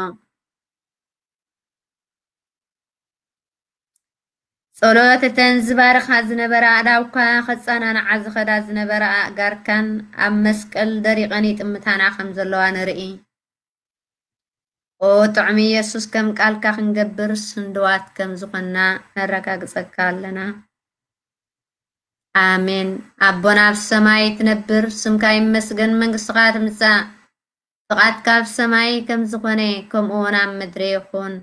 ጸሎት እተን ዝባርኻ ዝነበራ ኣእዳውካ፣ ከጸናንዓ ዝኸዳ ዝነበራ ኣእጋርካን ኣብ መስቀል ደሪቐን ይጥምታና ከም ዘለዋ ንርኢ። ኦ ጥዑም ኢየሱስ፣ ከም ቃልካ ክንገብር ስንድዋት ከም ዝኾንና ነረጋግጸካ ኣለና። ኣሜን። ኣቦና ኣብ ሰማይ ትነብር፣ ስምካ ይመስገን፣ መንግስትኻ ትምጻእ፣ ፍቓድካ ኣብ ሰማይ ከም ዝኾነ ከምኡ እውን ኣብ ምድሪ ይኹን።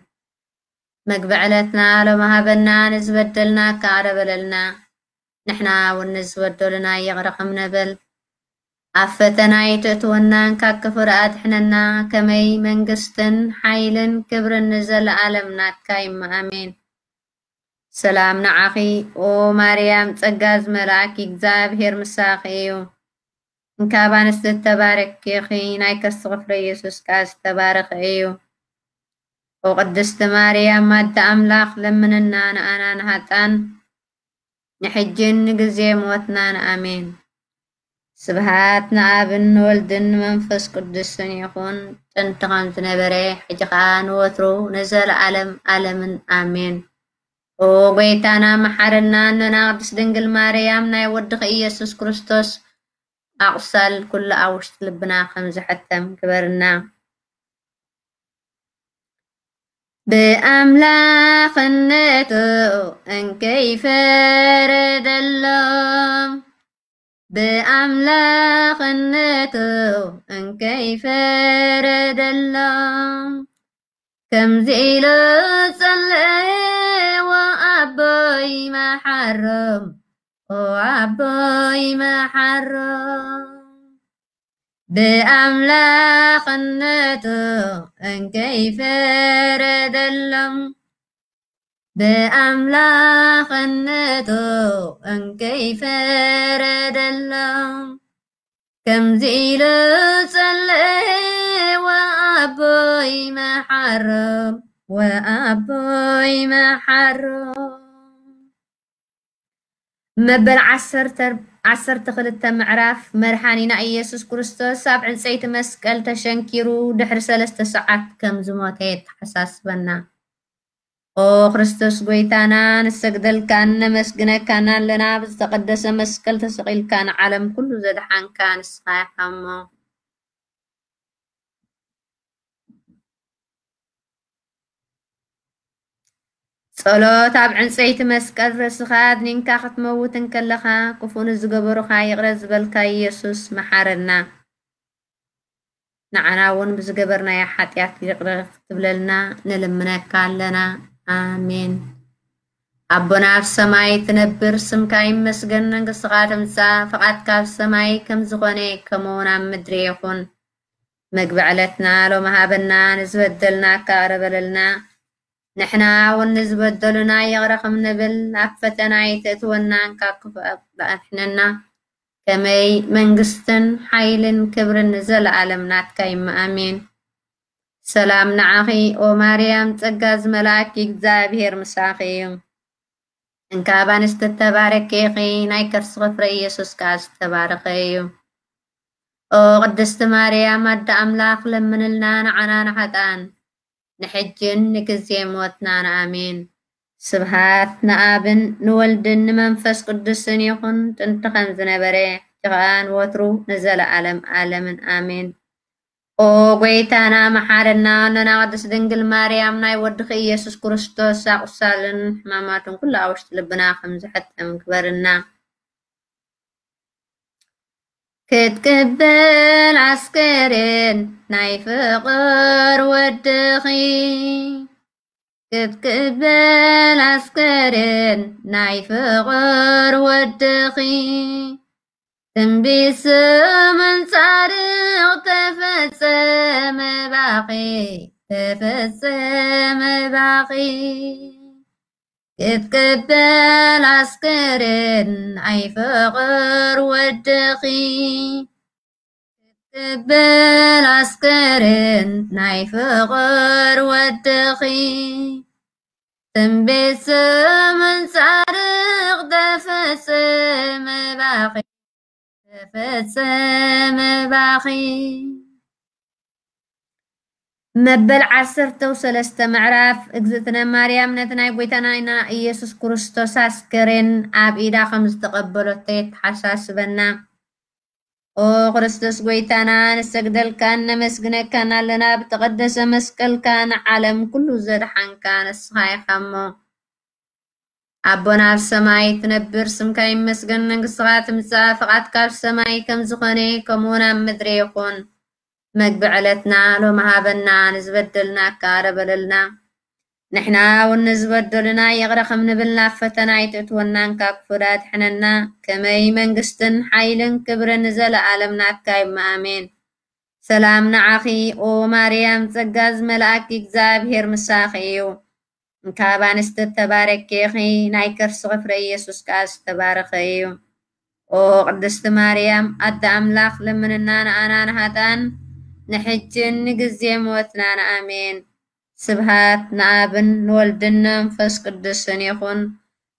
መግቢ ዕለትና ሎሚ ሃበና፣ ንዝበደልና ከኣ ይቕረ በለልና፣ ንሕና እውን ንዝበደሉና ይቕረ ከም ንብል። ኣብ ፈተና ኣይተእትወናን ካብ ክፉእ ኣድሕነና፣ ከመይ መንግስትን ሓይልን ክብርን ንዘለኣለም ናትካ እዩ። ኣሜን። ሰላም ንዓኺ ኦ ማርያም፣ ጸጋ ዝመልኣኪ እግዚኣብሔር ምሳኺ እዩ። እንካብ ኣንስቲ ዝተባረኪ ኢኺ፣ ናይ ከርስኺ ፍረ ኢየሱስ ከኣ ዝተባረኸ እዩ። ኦ ቅድስቲ ማርያም ኣደ ኣምላኽ፣ ለምንና ንኣና ንሃጣን፣ ንሕጅን ንግዜ ሞትናን። ኣሜን። ስብሃት ንኣብን ንወልድን ንመንፈስ ቅዱስን ይኹን፣ ጥንቲ ከም ዝነበረ፣ ሕጂ ኸኣ ንወትሩ ንዘለኣለም ኣለምን። ኣሜን። ኦ ጎይታና መሓረና፣ ነና ቅድስት ድንግል ማርያም፣ ናይ ወድኺ ኢየሱስ ክርስቶስ ኣቑሳል ኩሉ ኣብ ውሽጢ ልብና ከም ዝሕተም ግበርና። ብኣምላኽነቱ እንከይፈረደሎም፣ ብኣምላኽነቱ እንከይፈረደሎም፣ ከምዚ ኢሉ ጸለየ፣ "ዎ ኣቦይ መሓሮም፣ ዎ ኣቦይ መሓሮም." ብኣምላኽነቱ እንከይፈረደሎም፣ ብኣምላኽነቱ እንከይፈረደሎም፣ ከምዚ ኢሉ ጸለየ፣ "ዎ ኣቦይ መሓሮም፣ ዎ ኣቦይ መሓሮም." መበል ዓሰርተ፣ ዓሰርተ ክልተ ምዕራፍ መድሓኒና ኢየሱስ ክርስቶስ ኣብ ዕንጸይቲ መስቀል ተሸንኪሩ ድሕሪ ሰለስተ ሰዓት ከም ዝሞተ የተሓሳስበና። ኦ ክርስቶስ ጎይታና፣ ንሰግደልካን ነመስግነካን ኣለና። ብዝተቐደሰ መስቀል ተሰቒልካ ንዓለም ኩሉ ዘድሓንካ ንስኻ ኢኻ እሞ። ጸሎት። ኣብ ዕንጸይቲ መስቀል ርእስኻ ኣድኒንካ ክትመውት እንከለኻ፣ ክፉእ ንዝገበሩኻ ይቕረ ዝበልካ ኢየሱስ፣ መሓረና። ንዓና እውን ብዝገበርናዮ ሓጢኣት ይቕረ ክትብለልና ንልምነካ ኣለና። ኣሜን። ኣቦና ኣብ ሰማይ ትነብር፣ ስምካ ይመስገን፣ መንግስትኻ ትምጻእ፣ ፈቓድካ ኣብ ሰማይ ከም ዝኾነ ከምኡ እውን ኣብ ምድሪ ይኹን። መግቢ ዕለትና ሎሚ ሃበና፣ ንዝበደልናካ ይቕረ በለልና፣ ንሕና እውን ንዝበደሉና ይቕረ ከም ንብል፣ ኣብ ፈተና ኣይተእትወና፣ ካብ ክፉእ ኣድሕነና። ከመይ መንግስትን ሓይልን ክብርን ንዘለኣለም ናትካ እዩ። ኣሜን። ሰላም ንዓኺ ኦ ማርያም፣ ጸጋ ዝመልኣኪ እግዚኣብሔር ምሳኺ እዩ። እንካ ኣብ ኣንስቲ እተባረኪ ኢኺ፣ ናይ ከርስኺ ፍረ ኢየሱስ ከኣ ዝተባረኸ እዩ። ኦ ቅድስቲ ማርያም ኣደ ኣምላኽ፣ ለምንልና ንዓና ንሓጥኣን፣ ንሕጅን ንግዜ ሞትናን። ኣሜን። ስብሃት ንኣብን ንወልድን ንመንፈስ ቅዱስን ይኹን፣ ጥንቲ ከም ዝነበረ፣ ሕጂ ኸኣ ንወትሩ ንዘለኣለም ኣለምን። ኣሜን። ኦ ጎይታና መሓረና፣ ኣኖና ቅድስት ድንግል ማርያም፣ ናይ ወድኺ ኢየሱስ ክርስቶስ ኣቑሳልን ሕማማቱን ኩሉ ኣብ ውሽጢ ልብና ከም ዝሕተም ግበርና። ክትቅበል ኣስከሬን ናይ ፍቕር ወድኺ፣ ክትቅበል ኣስከሬን ናይ ፍቕር ወድኺ፣ ትንቢት ስምን ጻድቕ ተፈጸመ ባኺ፣ ተፈጸመ ባኺ። ክትቅበል ኣስከሬን ናይ ፍቕር ወድኺ፣ ክትቅበል ኣስከሬን ናይ ፍቕር ወድኺ፣ ትንቢት ስምን ጻድቕ ተፈጸመ ባኺ፣ ተፈጸመ ባኺ። መበል ዓሰርተው ሰለስተ ምዕራፍ። እግዝእትነ ማርያም ነቲ ናይ ጎይታና ኢየሱስ ክርስቶስ ኣስከሬን ኣብ ኢዳ ከም ዝተቐበለቶ የተሓሳስበና። ኦ ክርስቶስ ጎይታና፣ ንሰግደልካን ነመስግነካን ኣለና። ብተቐደሰ መስቀልካ ንዓለም ኩሉ ዘድሓንካ ንስኻ ኢኻ እሞ። ኣቦና ኣብ ሰማይ ትነብር፣ ስምካ ይመስገን፣ መንግስትኻ ትምጻእ፣ ፍቓድካ ኣብ ሰማይ ከም ዝኾነ ከምኡ እውን ኣብ ምድሪ ይኹን። መግቢ ዕለትና ሎሚ ሃበና፣ ንዝበደልናካ ይቕረ በለልና፣ ንሕና እውን ንዝበደሉና ይቕረ ከም ንብል፣ ናብ ፈተና ኣይተእትወናን ካብ ክፉእ ኣድሕነና። ከመይ መንግስትን ሓይልን ክብርን ንዘለኣለም ናትካ እዩ። ኣሜን። ሰላም ንዓኺ ኦ ማርያም፣ ጸጋ ዝመልኣኪ እግዚኣብሔር ምሳኺ እዩ። እንካ ኣብ ኣንስቲ እተባረኪ ኢኺ፣ ናይ ከርስኺ ፍረ ኢየሱስ ከኣ ዝተባረኸ እዩ። ኦ ቅድስቲ ማርያም ኣደ ኣምላኽ፣ ለምንና ንኣና ንሃጣን፣ ንሕጅን ንግዜ ሞትናን። ኣሜን። ስብሃት ንኣብን ንወልድን ንመንፈስ ቅዱስን ይኹን፣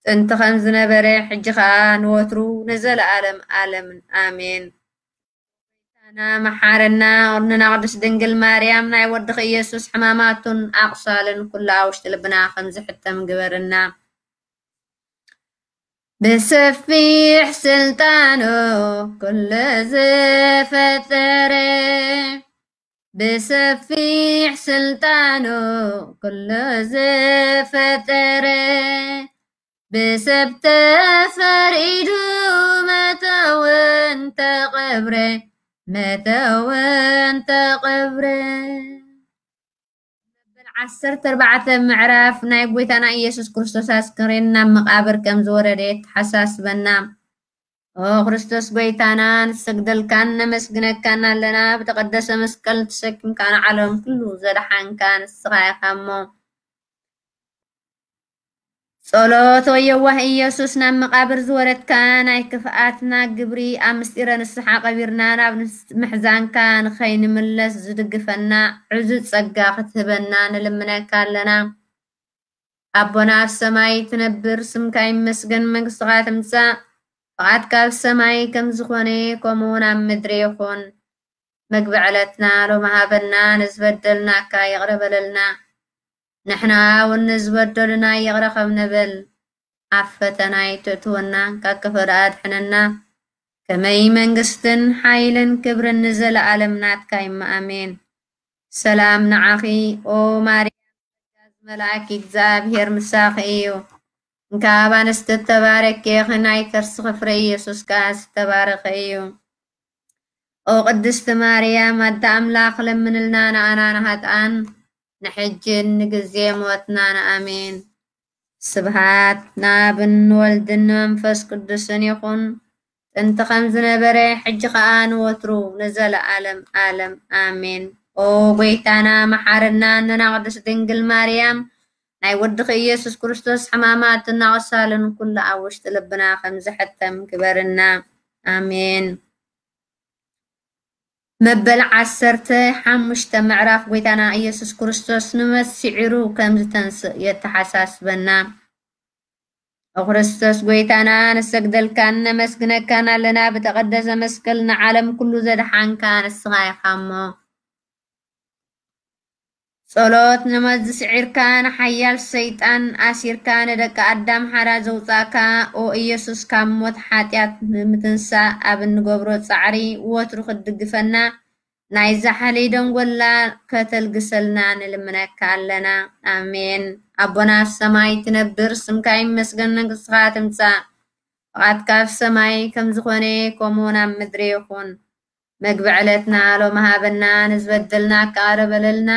ጥንቲ ከም ዝነበረ፣ ሕጂ ኸኣ ንወትሩ ንዘለኣለም ኣለምን። ኣሜን። ጎይታና መሓረና፣ እርንና ቅድስት ድንግል ማርያም፣ ናይ ወድኺ ኢየሱስ ሕማማቱን ኣቕሳልን ኩሉ ኣብ ውሽጢ ልብና ከም ዝሕተም ግበርና። ብሰፊሕ ስልጣኑ ኩሉ ዝፈጠረ፣ ብሰፊሕ ስልጣኑ ኩሉ ዝፈጠረ፣ ብሰብ ተፈሪዱ መተውን ተቐብረ፣ መተውን ተቐብረ። መበል ዓሰርተ ኣርባዕተ ምዕራፍ። ናይ ጎይታና ኢየሱስ ክርስቶስ ኣስከሬን ናብ መቓብር ከም ዝወረደ የተሓሳስበና። ኦ ክርስቶስ ጎይታና፣ ንሰግደልካን ነመስግነካን ኣለና። ብተቐደሰ መስቀል ተሰኪምካ ንዓለም ኩሉ ዘድሓንካ ንስኻ ኢኻ እሞ። ጸሎት። ኦ የዋህ ኢየሱስ፣ ናብ መቓብር ዝወረድካ፣ ናይ ክፍኣትና ግብሪ ኣብ ምስጢረ ንስሓ ቀቢርና ናብ ንስ-፣ ምሕዛንካ ንኸይንምለስ ዝድግፈና ዕዙዝ ጸጋ ክትህበና ንልምነካ ኣለና። ኣቦና ኣብ ሰማይ ትነብር፣ ስምካ ይመስገን፣ መንግስትኻ ትምጻእ፣ ፍቓድካ ኣብ ሰማይ ከም ዝኾነ ከምኡ እውን ኣብ ምድሪ ይኹን። መግቢ ዕለትና ሎሚ ሃበና፣ ንዝበደልናካ ይቕረ በለልና፣ ንሕና እውን ንዝበደሉና ይቕረ ከም ንብል፣ ኣብ ፈተና ኣይተእትወና፣ ካብ ክፉእ ኣድሕነና። ከመይ መንግስትን ሓይልን ክብርን ንዘለኣለም ናትካ እዩ። ኣሜን። ሰላም ንዓኺ ኦ ማርያም፣ ጸጋ መልኣክ እግዚኣብሔር ምሳኺ እዩ። እንካብ ኣንስቲ እተባረኪ ኢኺ፣ ናይ ከርስኺ ፍረ ኢየሱስ ከኣ ዝተባረኸ እዩ። ኦ ቅድስቲ ማርያም ኣደ ኣምላኽ፣ ለምንልና ንኣና ንሃጥኣን፣ ንሕጅን ንግዜ ሞትናን። ኣሜን። ስብሃት ንኣብን ንወልድን ንመንፈስ ቅዱስን ይኹን፣ ጥንቲ ከም ዝነበረ፣ ሕጂ ኸኣ ንወትሩ ንዘለዓለም ዓለም። ኣሜን። ኦ ጎይታና መሓረና፣ ነና ቅድስት ድንግል ማርያም፣ ናይ ወድኺ ኢየሱስ ክርስቶስ ሕማማትን ኣቕሳልን ኩሉ ኣብ ውሽጢ ልብና ከም ዝሕተም ግበርና። ኣሜን። መበል ዓሰርተ ሓሙሽተ ምዕራፍ ጎይታና ኢየሱስ ክርስቶስ ንመሲዒሩ ከም ዝተንስእ የተሓሳስበና። ኦ ክርስቶስ ጎይታና፣ ንሰግደልካን ነመስግነካን ኣለና። ብተቐደሰ መስቀል ንዓለም ኩሉ ዘድሓንካ ንስኻ ኢኻ እሞ። ጸሎት ንመዚ ስዒርካ፣ ንሓያል ሰይጣን ኣሲርካ፣ ንደቂ ኣዳም ሓራ ዘውጻእካ፣ ኦ ኢየሱስ፣ ካብ ሞት ሓጢኣት ንምትንሳእ ኣብ እንገብሮ ጻዕሪ ወትሩ ክትድግፈና፣ ናይዛ ሓለይ ደንጎላ ከተልግሰልና ንልምነካ ኣለና። ኣሜን። ኣቦና ኣብ ሰማይ ትነብር፣ ስምካ ይመስገን፣ መንግስትኻ ትምጻእ፣ ፍቓድካ ኣብ ሰማይ ከም ዝኾነ ከምኡ እውን ኣብ ምድሪ ይኹን። መግቢ ዕለትና ሎሚ ሃበና፣ ንዝበደልና ከኣ ይቕረ በለልና፣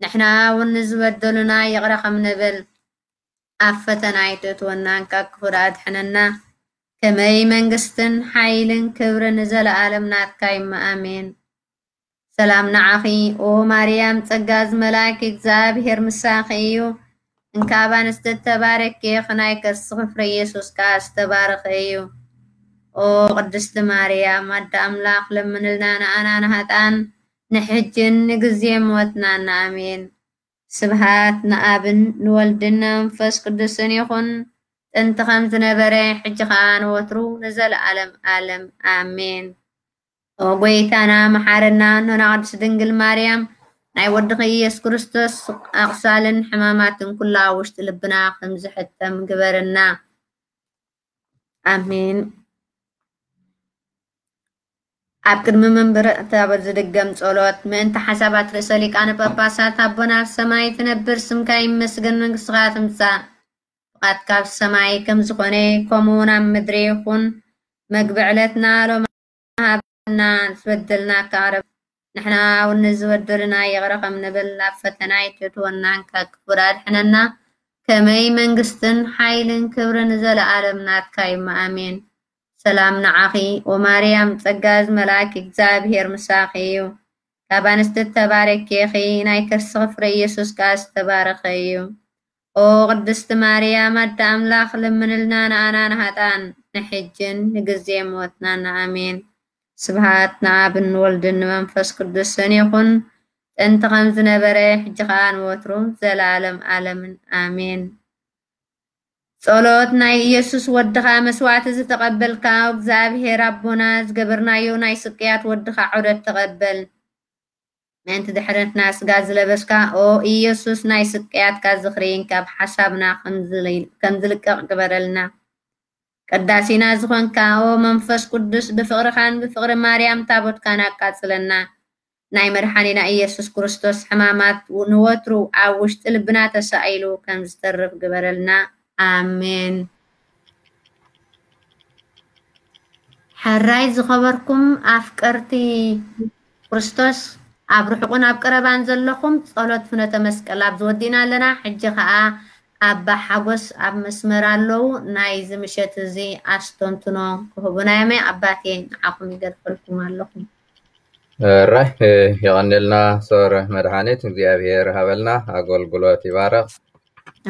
ንሕና እውን ንዝበደሉና ይቕረ ከም ንብል። ኣብ ፈተና ኣይተእትወና፣ ካብ ክፉእ ኣድሕነና። ከመይ መንግስትን ሓይልን ክብርን ንዘለኣለም ናትካ እዩ። ኣሜን። ሰላም ንዓኺ ኦ ማርያም፣ ጸጋ ዝመልኣኪ እግዚኣብሔር ምሳኺ እዩ። እንካብ ኣንስቲ እተባረኪ ኢኺ፣ ናይ ከርስኺ ፍረ ኢየሱስ ከኣ ዝተባረኸ እዩ። ኦ ቅድስቲ ማርያም ኣደ ኣምላኽ፣ ለምንልና ንኣና ንሃጣን፣ ንሕጅን ንግዜ ሞትናን። ኣሜን። ስብሃት ንኣብን ንወልድን ንመንፈስ ቅዱስን ይኹን፣ ጥንቲ ከም ዝነበረ፣ ሕጂ ኸኣ ንወትሩ ንዘለኣለም ኣለም። ኣሜን። ኦ ጎይታና መሓረና፣ እኖና ቅድስት ድንግል ማርያም፣ ናይ ወድኺ ኢየሱስ ክርስቶስ ኣቕሳልን ሕማማትን ኩላ ኣብ ውሽጢ ልብና ከም ዝሕተም ግበርና። ኣሜን። ኣብ ቅድሚ መንበረ ታቦት ዝድገም ጸሎት። ምእንቲ ሓሳባት ርእሰ ሊቃነ ጳጳሳት፣ ኣቦና ኣብ ሰማይ ትነብር፣ ስምካ ይመስገን፣ መንግስትኻ ትምጻእ፣ ፍቓድካ ኣብ ሰማይ ከም ዝኾነ ከምኡ እውን ኣብ ምድሪ ይኹን። መግቢ ዕለትና ሎሚ ሃበና፣ ዝበደልና ከቕረብ፣ ንሕና እውን ንዝበደሉና ይቕረ ከም ንብል፣ ኣብ ፈተና ኣይተእትወና፣ ካብ ክፉእ ኣድሕነና። ከመይ መንግስትን ሓይልን ክብርን ንዘለኣለም ናትካ እዩ። ኣሜን። ሰላም ንዓኺ ኦ ማርያም፣ ጸጋ ዝመልኣኪ እግዚኣብሔር ምሳኺ እዩ። ካብ ኣንስቲ ተባረኪ ኢኺ፣ ናይ ከርስኺ ፍረ ኢየሱስ ከኣ ዝተባረኸ እዩ። ኦ ቅድስቲ ማርያም ኣደ ኣምላኽ፣ ለምንልና ንኣና ንሃጣን፣ ንሕጅን ንግዜ ሞትናን። ኣሜን። ስብሃት ንኣብን ንወልድን ንመንፈስ ቅዱስን ይኹን፣ ጥንቲ ከም ዝነበረ፣ ሕጂ ኸኣ ንወትሩ፣ ዘለኣለም ኣለምን። ኣሜን። ጸሎት ናይ ኢየሱስ ወድኻ መስዋዕቲ ዝተቐበልካ፣ እግዚኣብሔር ኣቦና፣ ዝገበርናዮ ናይ ስቅያት ወድኻ ዑደት ተቐበል። ምእንቲ ድሕነትና ስጋ ዝለበስካ፣ ኦ ኢየሱስ፣ ናይ ስቅያትካ ዝኽሪ ካብ ሓሳብና ከም ዝል-፣ ከም ዝልቀቕ ግበረልና። ቅዳሴና ዝኾንካ፣ ኦ መንፈስ ቅዱስ፣ ብፍቕርኻን ብፍቕሪ ማርያም ታቦትካን ኣቃጽለና። ናይ መድሓኒና ኢየሱስ ክርስቶስ ሕማማት ንወትሩ ኣብ ውሽጢ ልብና ተሳኢሉ ከም ዝተርፍ ግበረልና። ኣሜን። ሕራይ ዝኸበርኩም ኣፍቀርቲ ክርስቶስ፣ ኣብ ርሑቕን ኣብ ቀረባን ዘለኹም፣ ጸሎት ፍኖተ መስቀል ኣብዚ ወዲእና ኣለና። ሕጂ ኸኣ ኣባ ሓጎስ ኣብ መስመር ኣለዉ። ናይዚ ምሸት እዚ ኣስተንትኖ ክህቡና እዮም። ኣባቴ፣ ንዓኹም ይገድፈልኩም ኣለኹም። ራይ የቐንልና። ሶር መድሓኒት እግዚኣብሔር ሃበልና፣ ኣገልግሎት ይባረኽ።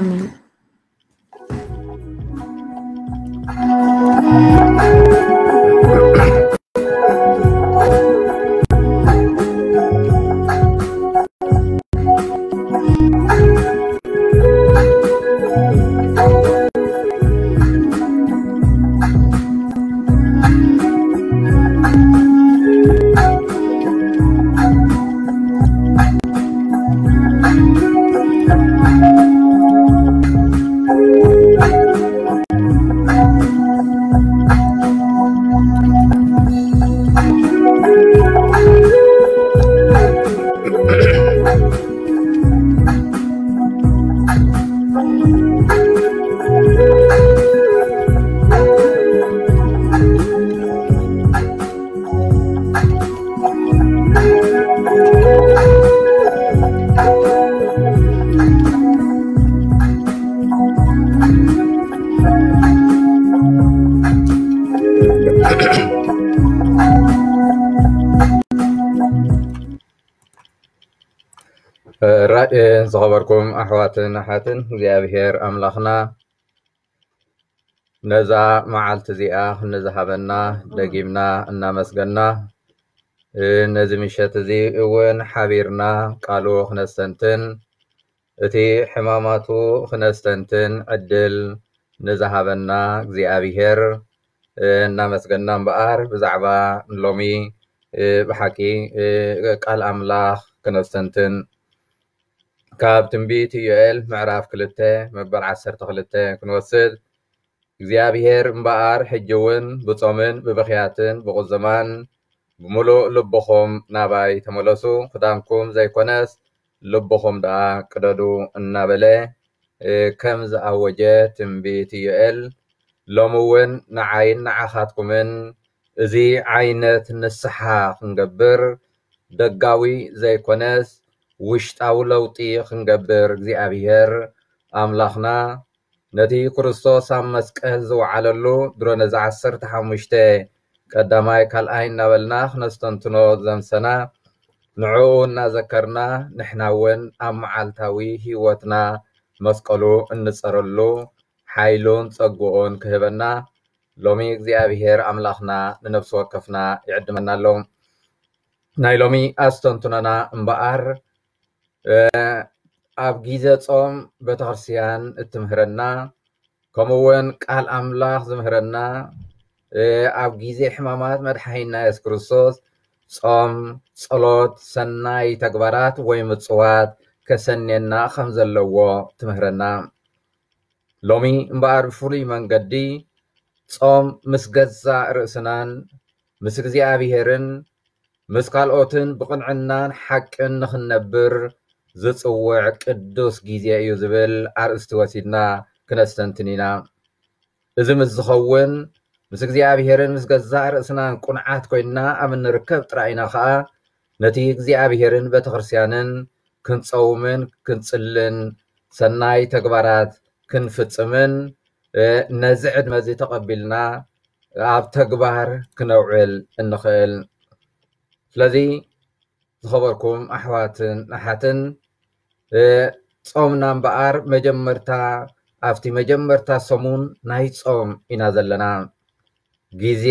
ኣሜን። ራእ ዝኸበርኩም ኣሕዋትን ኣሓትን እግዚኣብሔር ኣምላኽና ነዛ መዓልቲ እዚኣ ንዝሃበና ደጊምና እናመስገና፣ ነዚ ምሸት እዚ እውን ሓቢርና ቃሉ ክነስተንትን እቲ ሕማማቱ ክነስተንትን ዕድል ንዝሃበና እግዚኣብሔር እናመስገና እምበኣር፣ ብዛዕባ ሎሚ ብሓቂ ቃል ኣምላኽ ክነስተንትን ካብ ትንቢት ኢዮኤል ምዕራፍ ክልተ መበል ዓሰርተ ክልተ ክንወስድ፣ እግዚኣብሔር እምበኣር ሕጂ እውን ብጾምን ብብኽያትን ብቑዝማን ብምሉእ ልብኹም ናባይ ተመለሱ፣ ክዳንኩም ዘይኮነስ ልብኹም ደኣ ቅደዱ እናበለ ከም ዝኣወጀ ትንቢት ኢዮኤል፣ ሎሚ እውን ንዓይን ንዓኻትኩምን እዚ ዓይነት ንስሓ ክንገብር፣ ደጋዊ ዘይኮነስ ውሽጣዊ ለውጢ ክንገብር እግዚኣብሔር ኣምላኽና ነቲ ክርስቶስ ኣብ መስቀል ዝወዓለሉ ድሮ ነዚ ዓሰርተ ሓሙሽተ ቀዳማይ ካልኣይ እናበልና ክነስተንትኖ ዘምሰና፣ ንዕኡ እናዘከርና ንሕና እውን ኣብ መዓልታዊ ህይወትና መስቀሉ እንጸረሉ ሓይሉን ጸግኡን ክህበና ሎሚ እግዚኣብሔር ኣምላኽና ንነፍሲ ወከፍና ይዕድመና ኣሎ። ናይ ሎሚ ኣስተንትኖና እምበኣር ኣብ ጊዜ ጾም ቤተክርስትያን እትምህረና፣ ከምኡ እውን ቃል ኣምላኽ ዝምህረና፣ ኣብ ጊዜ ሕማማት መድሓኒና የሱስ ክርስቶስ ጾም፣ ጸሎት፣ ሰናይ ተግባራት ወይ ምጽዋት ከሰንየና ከም ዘለዎ ትምህረና። ሎሚ እምበኣር ብፍሉይ መንገዲ ጾም ምስ ገዛእ ርእስናን ምስ እግዚኣብሔርን ምስ ካልኦትን ብቕንዕናን ሓቅን ንኽንነብር ዝጽውዕ ቅዱስ ግዜ እዩ ዝብል ኣርእስቲ ወሲድና ክነስተንትን ኢና። እዚ ምስ ዝኸውን ምስ እግዚኣብሔርን ምስ ገዛእ ርእስናን ቁንዓት ኮይንና ኣብ እንርከብ ጥራይ ኢና ኸኣ ነቲ እግዚኣብሔርን ቤተክርስትያንን ክንጸውምን ክንጽልን ሰናይ ተግባራት ክንፍጽምን ነዚ ዕድመ እዚ ተቐቢልና ኣብ ተግባር ክነውዕል እንኽእል። ስለዚ ዝኸበርኩም ኣሕዋትን ኣሓትን፣ ጾምና እምበኣር መጀመርታ ኣብቲ መጀመርታ ሰሙን ናይ ጾም ኢና ዘለና። ግዜ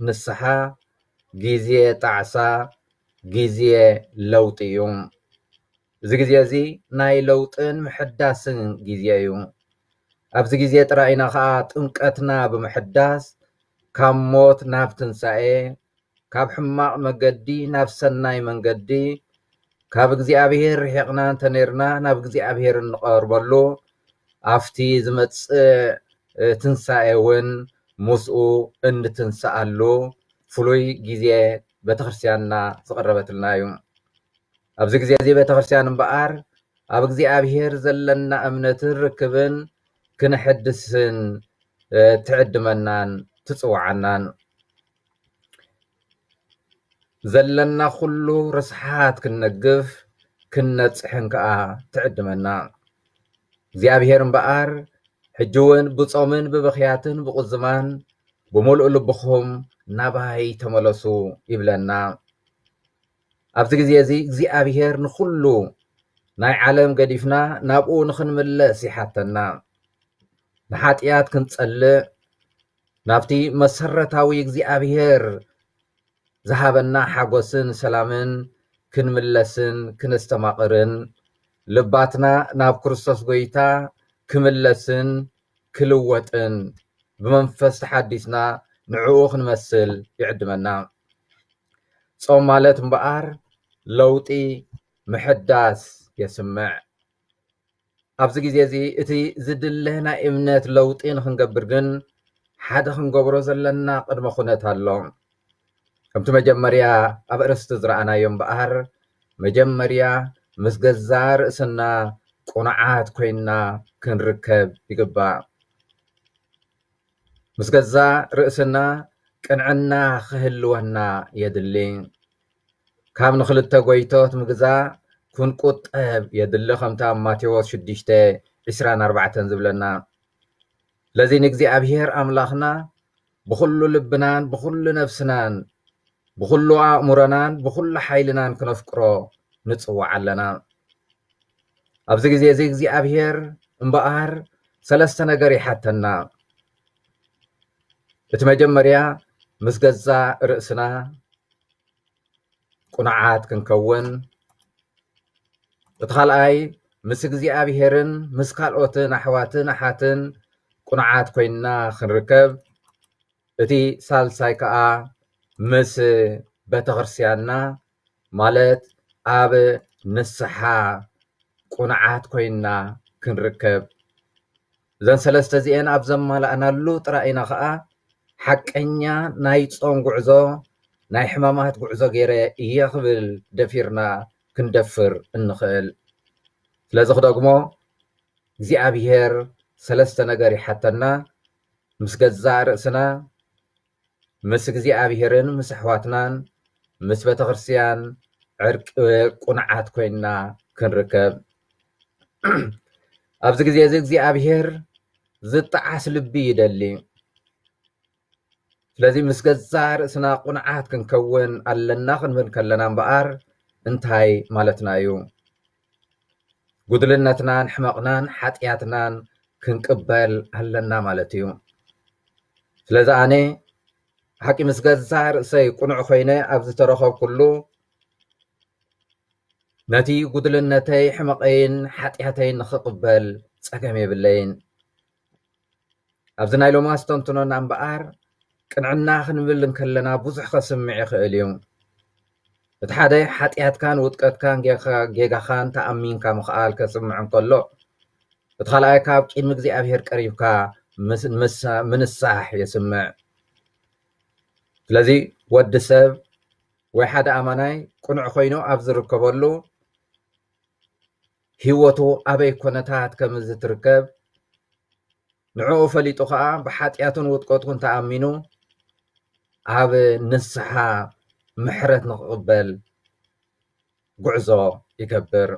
ንስሓ፣ ግዜ ጣዕሳ፣ ግዜ ለውጢ እዩ። እዚ ግዜ እዚ ናይ ለውጥን ምሕዳስን ግዜ እዩ። ኣብዚ ግዜ ጥራይ ኢና ኸኣ ጥምቀትና ብምሕዳስ ካብ ሞት ናብ ትንሳኤ፣ ካብ ሕማቕ መገዲ ናብ ሰናይ መንገዲ፣ ካብ እግዚኣብሔር ርሒቕና እንተኔርና ናብ እግዚኣብሔር እንቐርበሉ፣ ኣብቲ ዝመጽእ ትንሳኤ እውን ምስኡ እንትንስኣሉ ፍሉይ ግዜ ቤተክርስትያንና ዝቐረበትልና እዩ። ኣብዚ ግዜ እዚ ቤተክርስትያን እምበኣር ኣብ እግዚኣብሔር ዘለና እምነትን ርክብን ክነሐድስን ትዕድመናን ትጽውዓናን። ዘለና ኩሉ ርስሓት ክንነግፍ ክንነጽሕን ከኣ ትዕድመና። እግዚኣብሔር እምበኣር ሕጂ እውን ብጾምን ብብኽያትን ብቑዝማን ብምሉእ ልብኹም ናባይ ተመለሱ ይብለና። ኣብዚ ግዜ እዚ እግዚኣብሔር ንኹሉ ናይ ዓለም ገዲፍና ናብኡ ንኽንምለስ ይሓተና። ንሓጢኣት ክንጸልእ፣ ናብቲ መሰረታዊ እግዚኣብሔር ዝሃበና ሓጎስን ሰላምን ክንምለስን ክነስተማቕርን፣ ልባትና ናብ ክርስቶስ ጐይታ ክምለስን ክልወጥን፣ ብመንፈስ ተሓዲስና ንዕኡ ክንመስል ይዕድመና። ጾም ማለት እምበኣር ለውጢ ምሕዳስ የስምዕ። ኣብዚ ግዜ እዚ እቲ ዝድለ ናይ እምነት ለውጢ ንኽንገብር ግን ሓደ ክንገብሮ ዘለና ቅድመ ኩነት ኣሎ። ከምቲ መጀመርያ ኣብ ኣርእስቲ ዝረኣናዮ እምበኣር፣ መጀመርያ ምስ ገዛ ርእስና ቁኑዓት ኮይንና ክንርከብ ይግባእ። ምስ ገዛ ርእስና ቅንዕና ክህልወና የድሊ። ካብ ንኽልተ ጎይቶት ምግዛእ ክንቁጠብ የድሊ፣ ከምታ ኣብ ማቴዎስ ሽዱሽተ ዕስራን ኣርባዕተን ዝብለና። ስለዚ ንእግዚኣብሔር ኣምላኽና ብኹሉ ልብናን ብኹሉ ነፍስናን ብኹሉ ኣእምሮናን ብኹሉ ሓይልናን ክነፍቅሮ ንጽዋዕ ኣለና። ኣብዚ ግዜ እዚ እግዚኣብሔር እምበኣር ሰለስተ ነገር ይሓተና። እቲ መጀመርያ ምስ ገዛ ርእስና ቁኑዓት ክንከውን፣ እቲ ካልኣይ ምስ እግዚኣብሔርን ምስ ካልኦትን ኣሕዋትን ኣሓትን ቁኑዓት ኮይንና ክንርከብ፣ እቲ ሳልሳይ ከኣ ምስ ቤተክርስትያንና ማለት ኣብ ንስሓ ቁኑዓት ኮይንና ክንርከብ። እዘን ሰለስተ እዚኤን ኣብ ዘማላእናሉ ጥራይ ኢና ከኣ ሓቀኛ ናይ ጾም ጉዕዞ፣ ናይ ሕማማት ጉዕዞ ገይረ እየ ክብል ደፊርና ክንደፍር እንኽእል። ስለዚ ክደግሞ እግዚኣብሔር ሰለስተ ነገር ይሓተና። ምስ ገዛእ ርእስና፣ ምስ እግዚኣብሔርን ምስ ኣሕዋትናን ምስ ቤተክርስትያን ዕርቂ ቁኑዓት ኮይንና ክንርከብ። ኣብዚ ግዜ እዚ እግዚኣብሔር ዝጠዓስ ልቢ ይደሊ። ስለዚ ምስ ገዛእ ርእስና ቁኑዓት ክንከውን ኣለና ክንብል ከለና እምበኣር እንታይ ማለትና እዩ? ጉድልነትናን ሕመቕናን ሓጢኣትናን ክንቅበል ኣለና ማለት እዩ። ስለዚ ኣነ ሓቂ ምስ ገዛእ ርእሰይ ቁኑዕ ኮይነ ኣብ ዝተረኸብኩሉ ነቲ ጉድልነተይ ሕመቐይን ሓጢኣተይን ንኽቕበል ጸገም የብለይን። ኣብዚ ናይ ሎማስ ተንትኖና እምበኣር ቅንዕና ክንብል እንከለና ብዙሕ ከስምዕ ይኽእል እዩ። እቲ ሓደ ሓጢኣትካን ውድቀትካን ጌጋ- ጌጋኻን ተኣሚንካ ምኽኣል ከስምዕ እንከሎ፣ እቲ ካልኣይ ካብ ቅድሚ እግዚኣብሔር ቀሪብካ ምስ- ምስ- ምንሳሕ የስምዕ። ስለዚ ወዲ ሰብ ወይ ሓደ ኣማናይ ቅኑዕ ኮይኑ ኣብ ዝርከበሉ ህይወቱ ኣበይ ኮነታት ከም ዝትርከብ ንዕኡ ፈሊጡ ኸዓ ብሓጢኣቱን ውድቀቱን ተኣሚኑ ኣብ ንስሓ ምሕረት ንክቕበል ጉዕዞ ይገብር።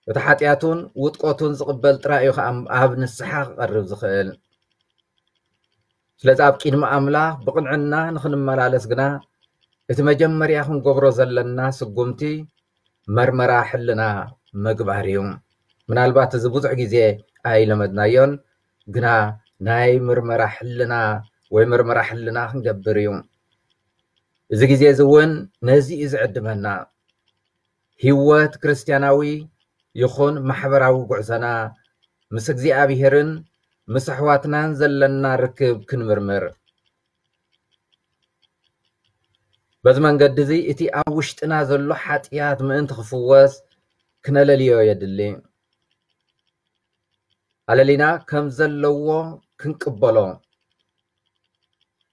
እቲ ሓጢኣቱን ውድቀቱን ዝቕበል ጥራይ እዩ ኸዓ ኣብ ንስሓ ክቐርብ ዝኽእል። ስለዚ ኣብ ቅድሚ ኣምላኽ ብቕንዕና ንኽንመላለስ ግና እቲ መጀመርያ ክንገብሮ ዘለና ስጉምቲ መርመራ ሕልና ምግባር እዩ። ምናልባት እዚ ብዙሕ ግዜ ኣይለመድናዮን፣ ግና ናይ ምርመራ ሕልና ወይ መርመራ ሕልና ክንገብር እዩ። እዚ ግዜ እዚ እውን ነዚ እዩ ዝዕድመና። ህይወት ክርስትያናዊ ይኹን ማሕበራዊ ጉዕዞና ምስ እግዚኣብሔርን ምስ ኣሕዋትናን ዘለና ርክብ ክንምርምር። በዚ መንገዲ እዚ እቲ ኣብ ውሽጥና ዘሎ ሓጢኣት ምእንቲ ክፍወስ ክነለልዮ የድሊ። ኣለሊና ከም ዘለዎ ክንቅበሎ።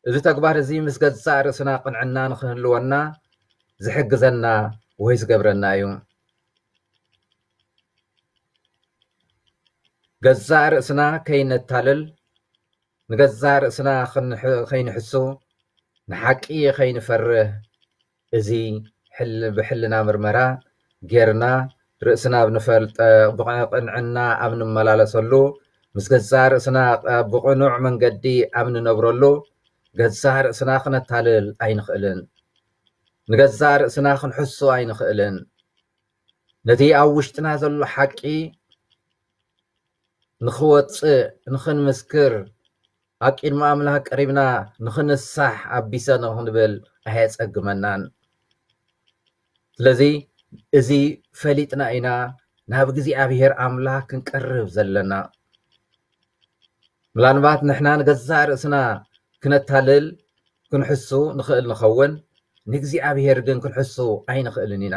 እዚ ተግባር እዚ ምስ ገዛእ ርእስና ቅንዕና ንክህልወና ዝሕግዘና ወይ ዝገብረና እዩ። ገዛእ ርእስና ከይነታልል፣ ንገዛእ ርእስና ክንሕ- ከይንሕሱ፣ ንሓቂ ከይንፈርህ፣ እዚ ሕል- ብሕልና ምርመራ ጌርና ርእስና ኣብ ንፈልጠ ብቕንዕና ኣብ ንመላለሰሉ፣ ምስ ገዛእ ርእስና ብቕኑዕ መንገዲ ኣብ ንነብረሉ፣ ገዛእ ርእስና ክነታልል ኣይንኽእልን። ንገዛእ ርእስና ክንሕሱ ኣይንኽእልን። ነቲ ኣብ ውሽጥና ዘሎ ሓቂ ንኽወጽእ፣ ንኽንምስክር፣ ኣብ ቅድሚ ኣምላኽ ቀሪብና ንኽንሳሕ ኣቢሰ ንኽንብል ኣየጸግመናን። ስለዚ እዚ ፈሊጥና ኢና ናብ እግዚኣብሔር ኣምላኽ ክንቀርብ ዘለና። ምናልባት ንሕና ንገዛእ ርእስና ክነታልል ክንሕሱ ንኽእል ንኸውን፣ ንእግዚኣብሔር ግን ክንሕሱ ኣይንኽእልን ኢና።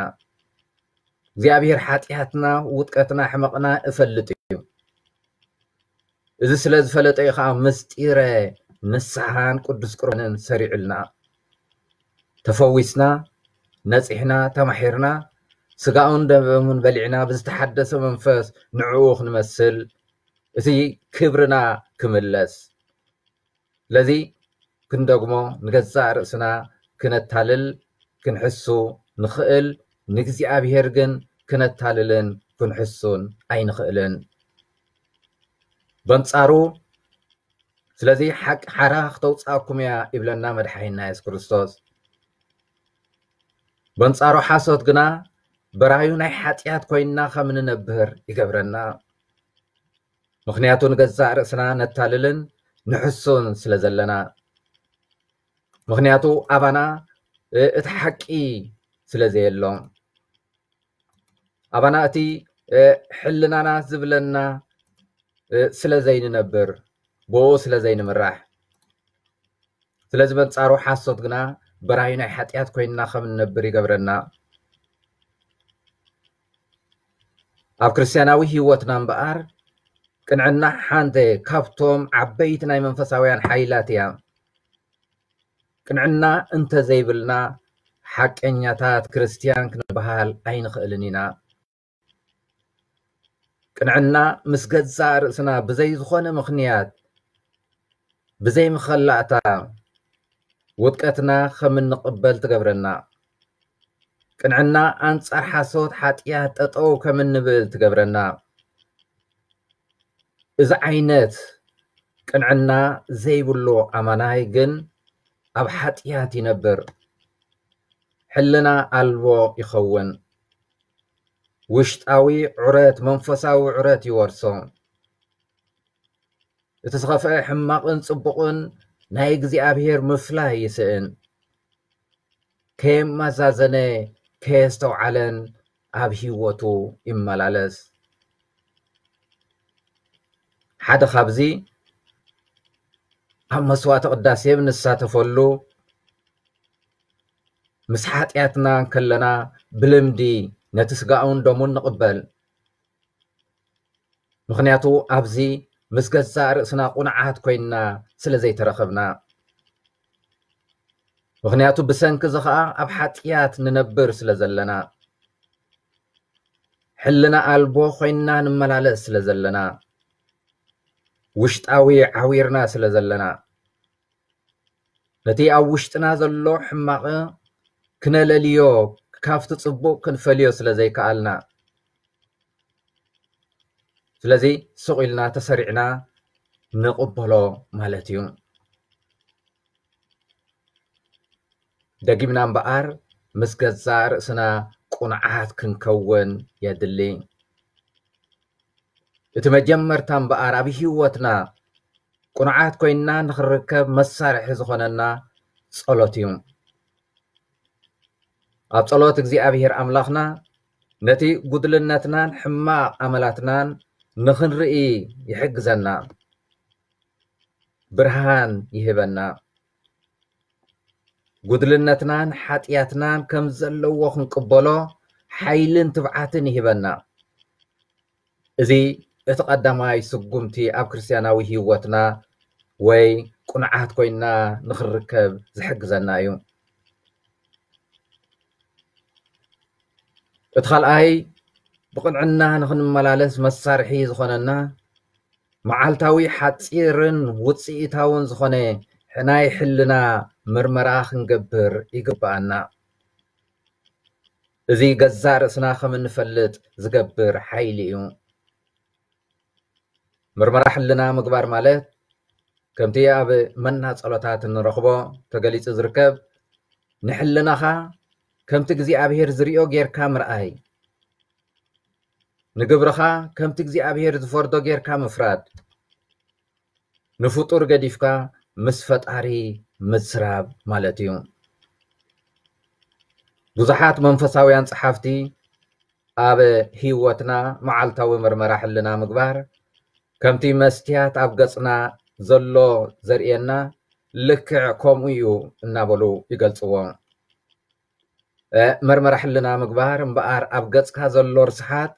እግዚኣብሔር ሓጢኣትና፣ ውድቀትና፣ ሕመቕና እፈልጥ እዩ። እዚ ስለ ዝፈለጠ እዩ ከዓ ምስጢረ ንስሓን ቅዱስ ቁርባንን ሰሪዑልና። ተፈዊስና፣ ነጺሕና፣ ተማሒርና፣ ስጋኡን ደሙን በሊዕና ብዝተሓደሰ መንፈስ ንዕኡ ክንመስል፣ እቲ ክብርና ክምለስ። ስለዚ ክንደግሞ፣ ንገዛእ ርእስና ክነታልል ክንሕሱ ንኽእል፣ ንእግዚኣብሔር ግን ክነታልልን ክንሕሱን ኣይንኽእልን። በንጻሩ ስለዚ ሓቂ ሓራ ክተውፅኣኩም እያ ይብለና መድሓኒና የሱስ ክርስቶስ። በንጻሩ ሓሶት ግና በራዩ ናይ ሓጢኣት ኮይንና ከም ንነብር ይገብረና። ምኽንያቱ ንገዛእ ርእስና ነታልልን ንሕሱን ስለ ዘለና። ምኽንያቱ ኣባና እቲ ሓቂ ስለ ዘየሎ። ኣባና እቲ ሕልናና ዝብለና ስለ ዘይንነብር፣ ብኡ ስለ ዘይንምራሕ። ስለዚ በንጻሩ ሓሶት ግና በራዩ ናይ ሓጢኣት ኮይንና ከም ንነብር ይገብረና። ኣብ ክርስትያናዊ ህይወትና እምበኣር ቅንዕና ሓንቲ ካብቶም ዓበይቲ ናይ መንፈሳውያን ሓይላት እያ። ቅንዕና እንተዘይብልና ሓቀኛታት ክርስትያን ክንበሃል ኣይንኽእልን ኢና። ቅንዕና ምስ ገዛእ ርእስና ብዘይ ዝኾነ ምኽንያት፣ ብዘይ መኸላእታ ውድቀትና ከም እንቕበል ትገብረና። ቅንዕና ኣንጻር ሓሶት ሓጢኣት ጠጠው ከም እንብል ትገብረና። እዚ ዓይነት ቅንዕና ዘይብሉ ኣማናይ ግን ኣብ ሓጢኣት ይነብር፣ ሕልና ኣልቦ ይኸውን፣ ውሽጣዊ ዑረት፣ መንፈሳዊ ዑረት ይወርሶ። እቲ ዝኸፍአ ሕማቕን ጽቡቕን ናይ እግዚኣብሔር ምፍላይ ይስእን። ከየመዛዘነ ከየስተውዓለን ኣብ ህይወቱ ይመላለስ። ሓደ ካብዚ ኣብ መስዋዕተ ቅዳሴ ብንሳተፈሉ ምስ ሓጢኣትና ከለና ብልምዲ ነቲ ስጋኡን ደሙን ንቕበል። ምኽንያቱ ኣብዚ ምስ ገዛእ ርእስና ቁኑዓት ኮይንና ስለ ዘይተረኸብና። ምኽንያቱ ብሰንኪ እዚ ኸኣ ኣብ ሓጢኣት ንነብር ስለ ዘለና። ሕልና ኣልቦ ኮይንና ንመላለስ ስለ ዘለና። ውሽጣዊ ዓዊርና ስለ ዘለና። ነቲ ኣብ ውሽጥና ዘሎ ሕማቕ ክነለልዮ፣ ካብቲ ጽቡቕ ክንፈልዮ ስለ ዘይከኣልና። ስለዚ ስቕ ኢልና ተሰሪዕና ንቕበሎ ማለት እዩ። ደጊምና እምበኣር ምስ ገዛእ ርእስና ቁኑዓት ክንከውን የድሊ። እቲ መጀመርታ እምበኣር ኣብ ህይወትና ቁኑዓት ኮይንና ንኽንርከብ መሳርሒ ዝኾነና ጸሎት እዩ። ኣብ ጸሎት እግዚኣብሔር ኣምላኽና ነቲ ጉድልነትናን ሕማቕ ኣመላትናን ንኽንርኢ ይሕግዘና። ብርሃን ይህበና። ጉድልነትናን ሓጢኣትናን ከም ዘለዎ ክንቅበሎ ሓይልን ትብዓትን ይህበና። እዚ እቲ ቀዳማይ ስጉምቲ ኣብ ክርስትያናዊ ህይወትና ወይ ቁኑዓት ኮይንና ንኽንርከብ ዝሕግዘና እዩ። እቲ ካልኣይ ብቕንዕና ንኽንመላለስ መሳርሒ ዝኾነና መዓልታዊ ሓጺርን ውጽኢታውን ዝኾነ ናይ ሕልና ምርመራ ክንገብር ይግብኣና። እዚ ገዛእ ርእስና ከም እንፈልጥ ዝገብር ሓይሊ እዩ። ምርመራ ሕልና ምግባር ማለት ከምቲ ኣብ መና ጸሎታት እንረኽቦ ተገሊጹ ዝርከብ ንሕልናኻ ከምቲ እግዚኣብሔር ዝርእዮ ጌርካ ምርኣይ፣ ንግብርኻ ከምቲ እግዚኣብሔር ዝፈርዶ ጌርካ ምፍራድ፣ ንፍጡር ገዲፍካ ምስ ፈጣሪ ምዝራብ ማለት እዩ። ብዙሓት መንፈሳውያን ጸሓፍቲ ኣብ ህይወትና መዓልታዊ ምርመራ ሕልና ምግባር ከምቲ መስትያት ኣብ ገጽና ዘሎ ዘርእየና ልክዕ ከምኡ እዩ እናበሉ ይገልጽዎ። መርመራ ሕልና ምግባር እምበኣር ኣብ ገጽካ ዘሎ ርስሓት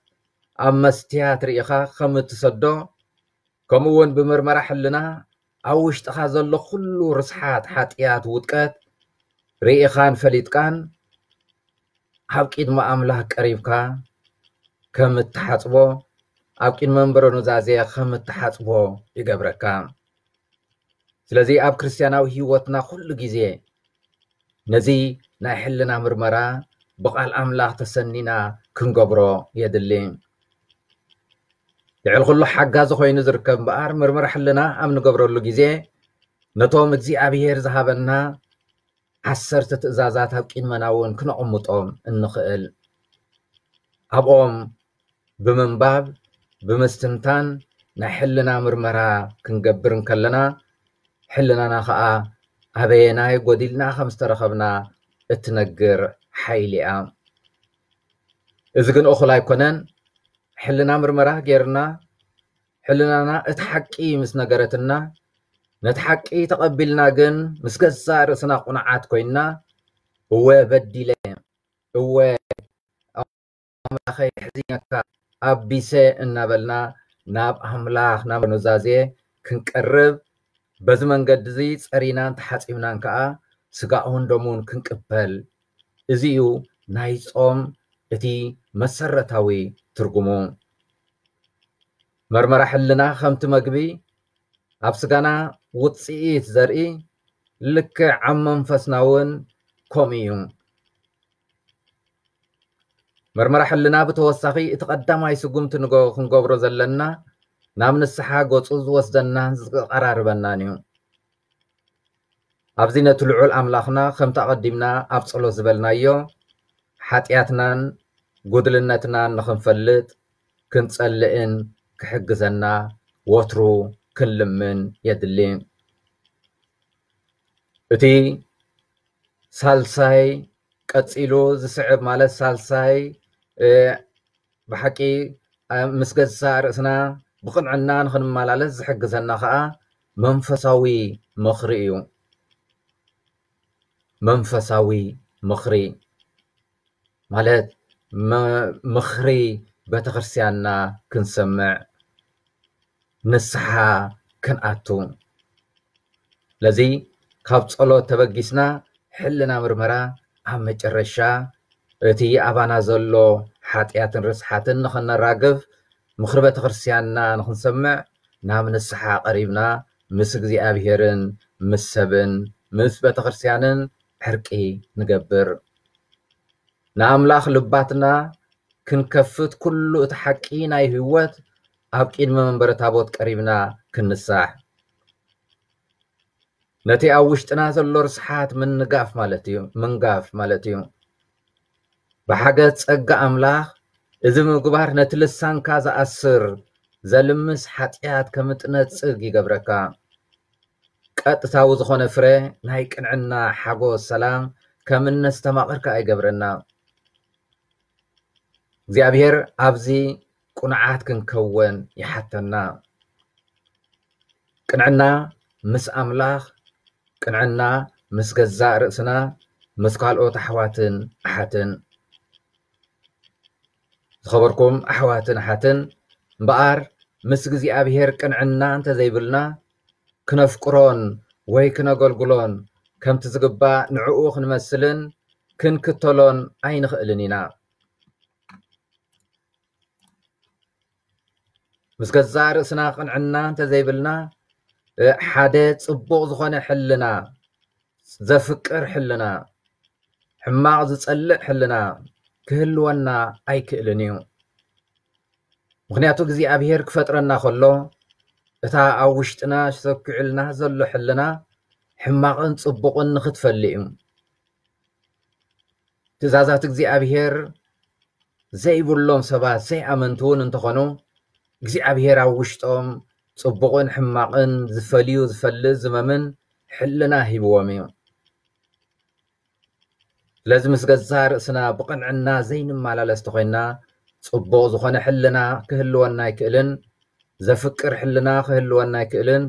ኣብ መስትያት ርኢኻ ከም እትሰዶ፣ ከምኡ እውን ብምርመራ ሕልና ኣብ ውሽጥኻ ዘሎ ኩሉ ርስሓት ሓጢኣት ውድቀት ርኢኻን ፈሊጥካን ኣብ ቅድሚ ኣምላኽ ቀሪብካ ከም እትሓጽቦ፣ ኣብ ቅድሚ መንበረ ኑዛዜ ከም እትሓጽቦ ይገብረካ። ስለዚ ኣብ ክርስትያናዊ ህይወትና ኩሉ ግዜ ነዚ ናይ ሕልና ምርመራ ብቓል ኣምላኽ ተሰኒና ክንገብሮ የድሊ። ልዕሊ ኩሉ ሓጋዚ ኮይኑ ዝርከብ እምበኣር፣ ምርመራ ሕልና ኣብ ንገብረሉ ግዜ ነቶም እግዚኣብሔር ዝሃበና ዓሰርተ ትእዛዛት ኣብ ቅድመና እውን ክነቐምጦም እንኽእል። ኣብኦም ብምንባብ፣ ብምስትንታን ናይ ሕልና ምርመራ ክንገብር እንከለና፣ ሕልናና ኸኣ ኣበየናይ ጎዲልና ከም ዝተረኸብና እትነግር ሓይሊ እያ። እዚ ግን እኹል ኣይኮነን። ሕልና ምርመራ ጌርና፣ ሕልናና እቲ ሓቂ ምስ ነገረትና፣ ነቲ ሓቂ ተቐቢልና ግን ምስ ገዛእ ርእስና ቁኑዓት ኮይንና፣ "እወ በዲለ፣ እወ ኣምላኸይ የሕዝነካ፣ ኣቢሰ" እናበልና ናብ ኣምላኽ ናብ ኑዛዜ ክንቀርብ፣ በዚ መንገዲ እዚ ጸሪናን ተሓጺብናን ከኣ ስጋኡን ደሙን ክንቅበል። እዚ እዩ ናይ ጾም እቲ መሰረታዊ ትርጉሙ። መርመራ ሕልና ከምቲ መግቢ ኣብ ስጋና ውጽኢት ዘርኢ፣ ልክዕ ኣብ መንፈስና እውን ከምኡ እዩ። መርመራ ሕልና ብተወሳኺ እቲ ቀዳማይ ስጉምቲ ንገ-፣ ክንገብሮ ዘለና ናብ ንስሓ ገጹ ዝወስደናን ዝቐራርበናን እዩ። ኣብዚ ነቲ ልዑል ኣምላኽና ከምቲ ኣቐዲምና ኣብ ጸሎት ዝበልናዮ ሓጢኣትናን ጉድልነትናን ንኽንፈልጥ ክንጸልእን ክሕግዘና ወትሩ ክንልምን የድሊ። እቲ ሳልሳይ ቀጺሉ ዝስዕብ ማለት ሳልሳይ፣ እ፣ ብሓቂ፣ እ፣ ምስ ገዛእ ርእስና ብቕንዕና ንኽንመላለስ ዝሕግዘና ኸኣ መንፈሳዊ ምኽሪ እዩ። መንፈሳዊ ምኽሪ ማለት መ-፣ ምኽሪ ቤተክርስትያንና ክንሰምዕ፣ ንስሓ ክንኣቱ። ስለዚ ካብ ጸሎት ተበጊስና ሕልና ምርመራ ኣብ መጨረሻ እቲ ኣባና ዘሎ ሓጢኣትን ርስሓትን ንኽነራግፍ፣ ምኽሪ ቤተክርስትያንና ንኽንሰምዕ ናብ ንስሓ ቀሪብና ምስ እግዚኣብሔርን ምስ ሰብን ምስ ቤተክርስትያንን ዕርቂ ንገብር። ንኣምላኽ ልባትና ክንከፍት ኩሉ እቲ ሓቂ ናይ ህይወት ኣብ ቅድሚ መንበረ ታቦት ቀሪብና ክንሳሕ። ነቲ ኣብ ውሽጥና ዘሎ ርስሓት ምንጋፍ ማለት እዩ፣ ምንጋፍ ማለት እዩ። ብሓገዝ ጸጋ ኣምላኽ እዚ ምግባር ነቲ ልሳንካ ዝኣስር ዘልምስ ሓጢኣት ከም እትነጽግ ይገብረካ። ቀጥታዊ ዝኾነ ፍረ ናይ ቅንዕና፣ ሓጎስ፣ ሰላም ከም እነስተማቕር ከኣ ይገብረና። እግዚኣብሔር ኣብዚ ቁኑዓት ክንከወን ይሓተና። ቅንዕና ምስ ኣምላኽ፣ ቅንዕና ምስ ገዛእ ርእስና፣ ምስ ካልኦት ኣሕዋትን ኣሓትን። ዝኸበርኩም ኣሕዋትን ኣሓትን፣ እምበኣር ምስ እግዚኣብሔር ቅንዕና እንተዘይብልና፣ ክነፍቅሮን ወይ ክነገልግሎን ከምቲ ዝግባእ ንዕኡ ክንመስልን ክንክተሎን ኣይንኽእልን ኢና። ምስ ገዛእ ርእስና ቅንዕና እንተዘይብልና፣ እ፣ ሓደ ጽቡቕ ዝኾነ ሕልና፣ ዘፍቅር ሕልና፣ ሕማቕ ዝጸልእ ሕልና ክህልወና ኣይክእልን እዩ። ምኽንያቱ እግዚኣብሔር ክፈጥረና ከሎ፣ እታ ኣብ ውሽጥና ሰኪዑልና ዘሎ ሕልና ሕማቕን ጽቡቕን ንኽትፈሊ እዩ። ትእዛዛት እግዚኣብሔር ዘይብሎም ሰባት፣ ዘይኣመንቲ እውን እንተኾኑ፣ እግዚኣብሔር ኣብ ውሽጦም ጽቡቕን ሕማቕን ዝፈልዩ፣ ዝፈልጥ፣ ዝመምን ሕልና ሂብዎም እዩ። ስለዚ ምስ ገዛእ ርእስና ብቕንዕና ዘይንመላለስ ተኾይንና፣ ጽቡቕ ዝኾነ ሕልና ክህልወና ኣይክእልን፣ ዘፍቅር ሕልና ክህልወና ኣይክእልን፣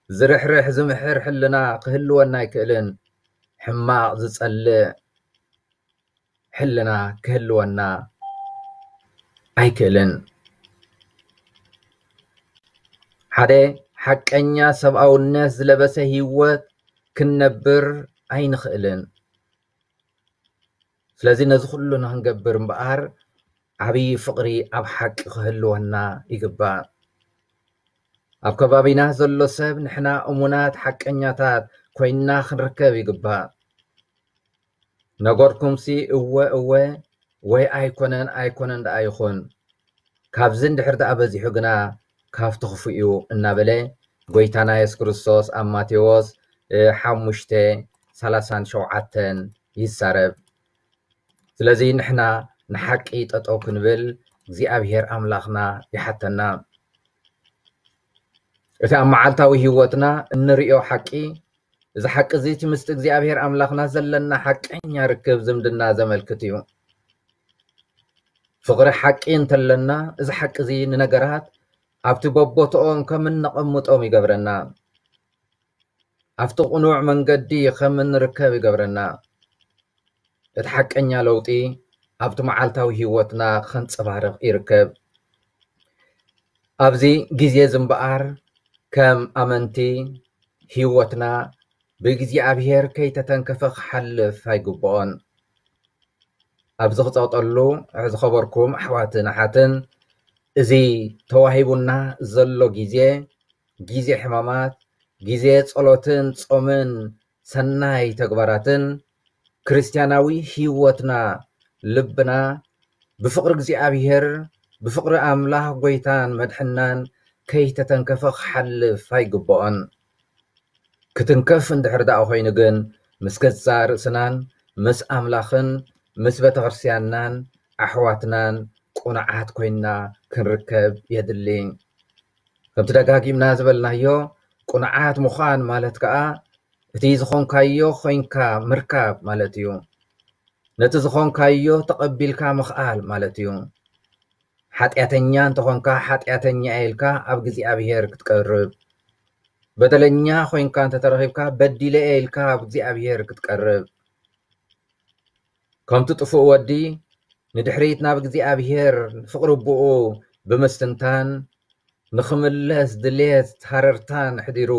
ዝርሕርሕ ዝምሕር ሕልና ክህልወና ኣይክእልን፣ ሕማቕ ዝጸልእ ሕልና ክህልወና ኣይክእልን። ሓደ ሓቀኛ ሰብኣውነት ዝለበሰ ህይወት ክንነብር ኣይንኽእልን። ስለዚ ነዚ ኩሉ ንክንገብር እምበኣር ዓብዪ ፍቕሪ ኣብ ሓቂ ክህልወና ይግባእ። ኣብ ከባቢና ዘሎ ሰብ ንሕና እሙናት ሓቀኛታት ኮይንና ክንርከብ ይግባእ። ነገርኩምሲ እወ እወ ወይ ኣይኮነን ኣይኮነን ደኣ ይኹን። ካብዚ እንድሕር ደኣ በዚሑ ግና ካብቲ ክፉእ እዩ እናበለ ጎይታና የሱስ ክርስቶስ ኣብ ማቴዎስ ሓሙሽተ ሰላሳን ሸውዓተን ይዛረብ። ስለዚ ንሕና ንሓቂ ጠጠው ክንብል እግዚኣብሔር ኣምላኽና ይሓተና። እቲ ኣብ መዓልታዊ ህይወትና እንርእዮ ሓቂ፣ እዚ ሓቂ እዚ እቲ ምስቲ እግዚኣብሔር ኣምላኽና ዘለና ሓቀኛ ርክብ ዝምድና ዘመልክት እዩ። ፍቕሪ ሓቂ እንተለና፣ እዚ ሓቂ እዚ ንነገራት ኣብቲ በቦትኦም ከም እነቐምጦም ይገብረና። ኣብቲ ቅኑዕ መንገዲ ከም እንርከብ ይገብረና። እቲ ሓቀኛ ለውጢ ኣብቲ መዓልታዊ ህይወትና ከንጸባርቕ ይርከብ። ኣብዚ ግዜ እዚ እምበኣር ከም ኣመንቲ ህይወትና ብእግዚኣብሔር ከይተተንከፈ ክሓልፍ ኣይግብኦን። ኣብዚ ክጸቕጠሉ ዝኸበርኩም ኣሕዋትን ኣሓትን፣ እዚ ተዋሂቡና ዘሎ ግዜ፣ ግዜ ሕማማት፣ ግዜ ጸሎትን ጾምን ሰናይ ተግባራትን፣ ክርስትያናዊ ህይወትና፣ ልብና ብፍቕሪ እግዚኣብሔር፣ ብፍቕሪ ኣምላኽ ጎይታን መድሕናን ከይተተንከፈ ክሓልፍ ኣይግብኦን። ክትንከፍ እንድሕር ደኣ ኮይኑ ግን ምስ ገዛእ ርእስናን ምስ ኣምላኽን ምስ ቤተክርስትያንናን ኣሕዋትናን ቁኑዓት ኮይንና ክንርከብ የድሊ። ከምቲ ደጋጊምና ዝበልናዮ፣ ቁኑዓት ምዃን ማለት ከኣ እቲ ዝኾንካዮ ኮይንካ ምርካብ ማለት እዩ። ነቲ ዝኾንካዮ ተቐቢልካ ምኽኣል ማለት እዩ። ሓጢኣተኛ እንተኾንካ ሓጢኣተኛ ኢልካ ኣብ እግዚኣብሔር ክትቀርብ፣ በደለኛ ኮይንካ እንተተረኺብካ በዲለ ኢልካ ኣብ እግዚኣብሔር ክትቀርብ፣ ከምቲ ጥፉእ ወዲ ንድሕሪት ናብ እግዚኣብሔር ፍቕሪ ኣቦኡ ብምስትንታን ንኽምለስ ድሌት ሃረርታን ኣሕዲሩ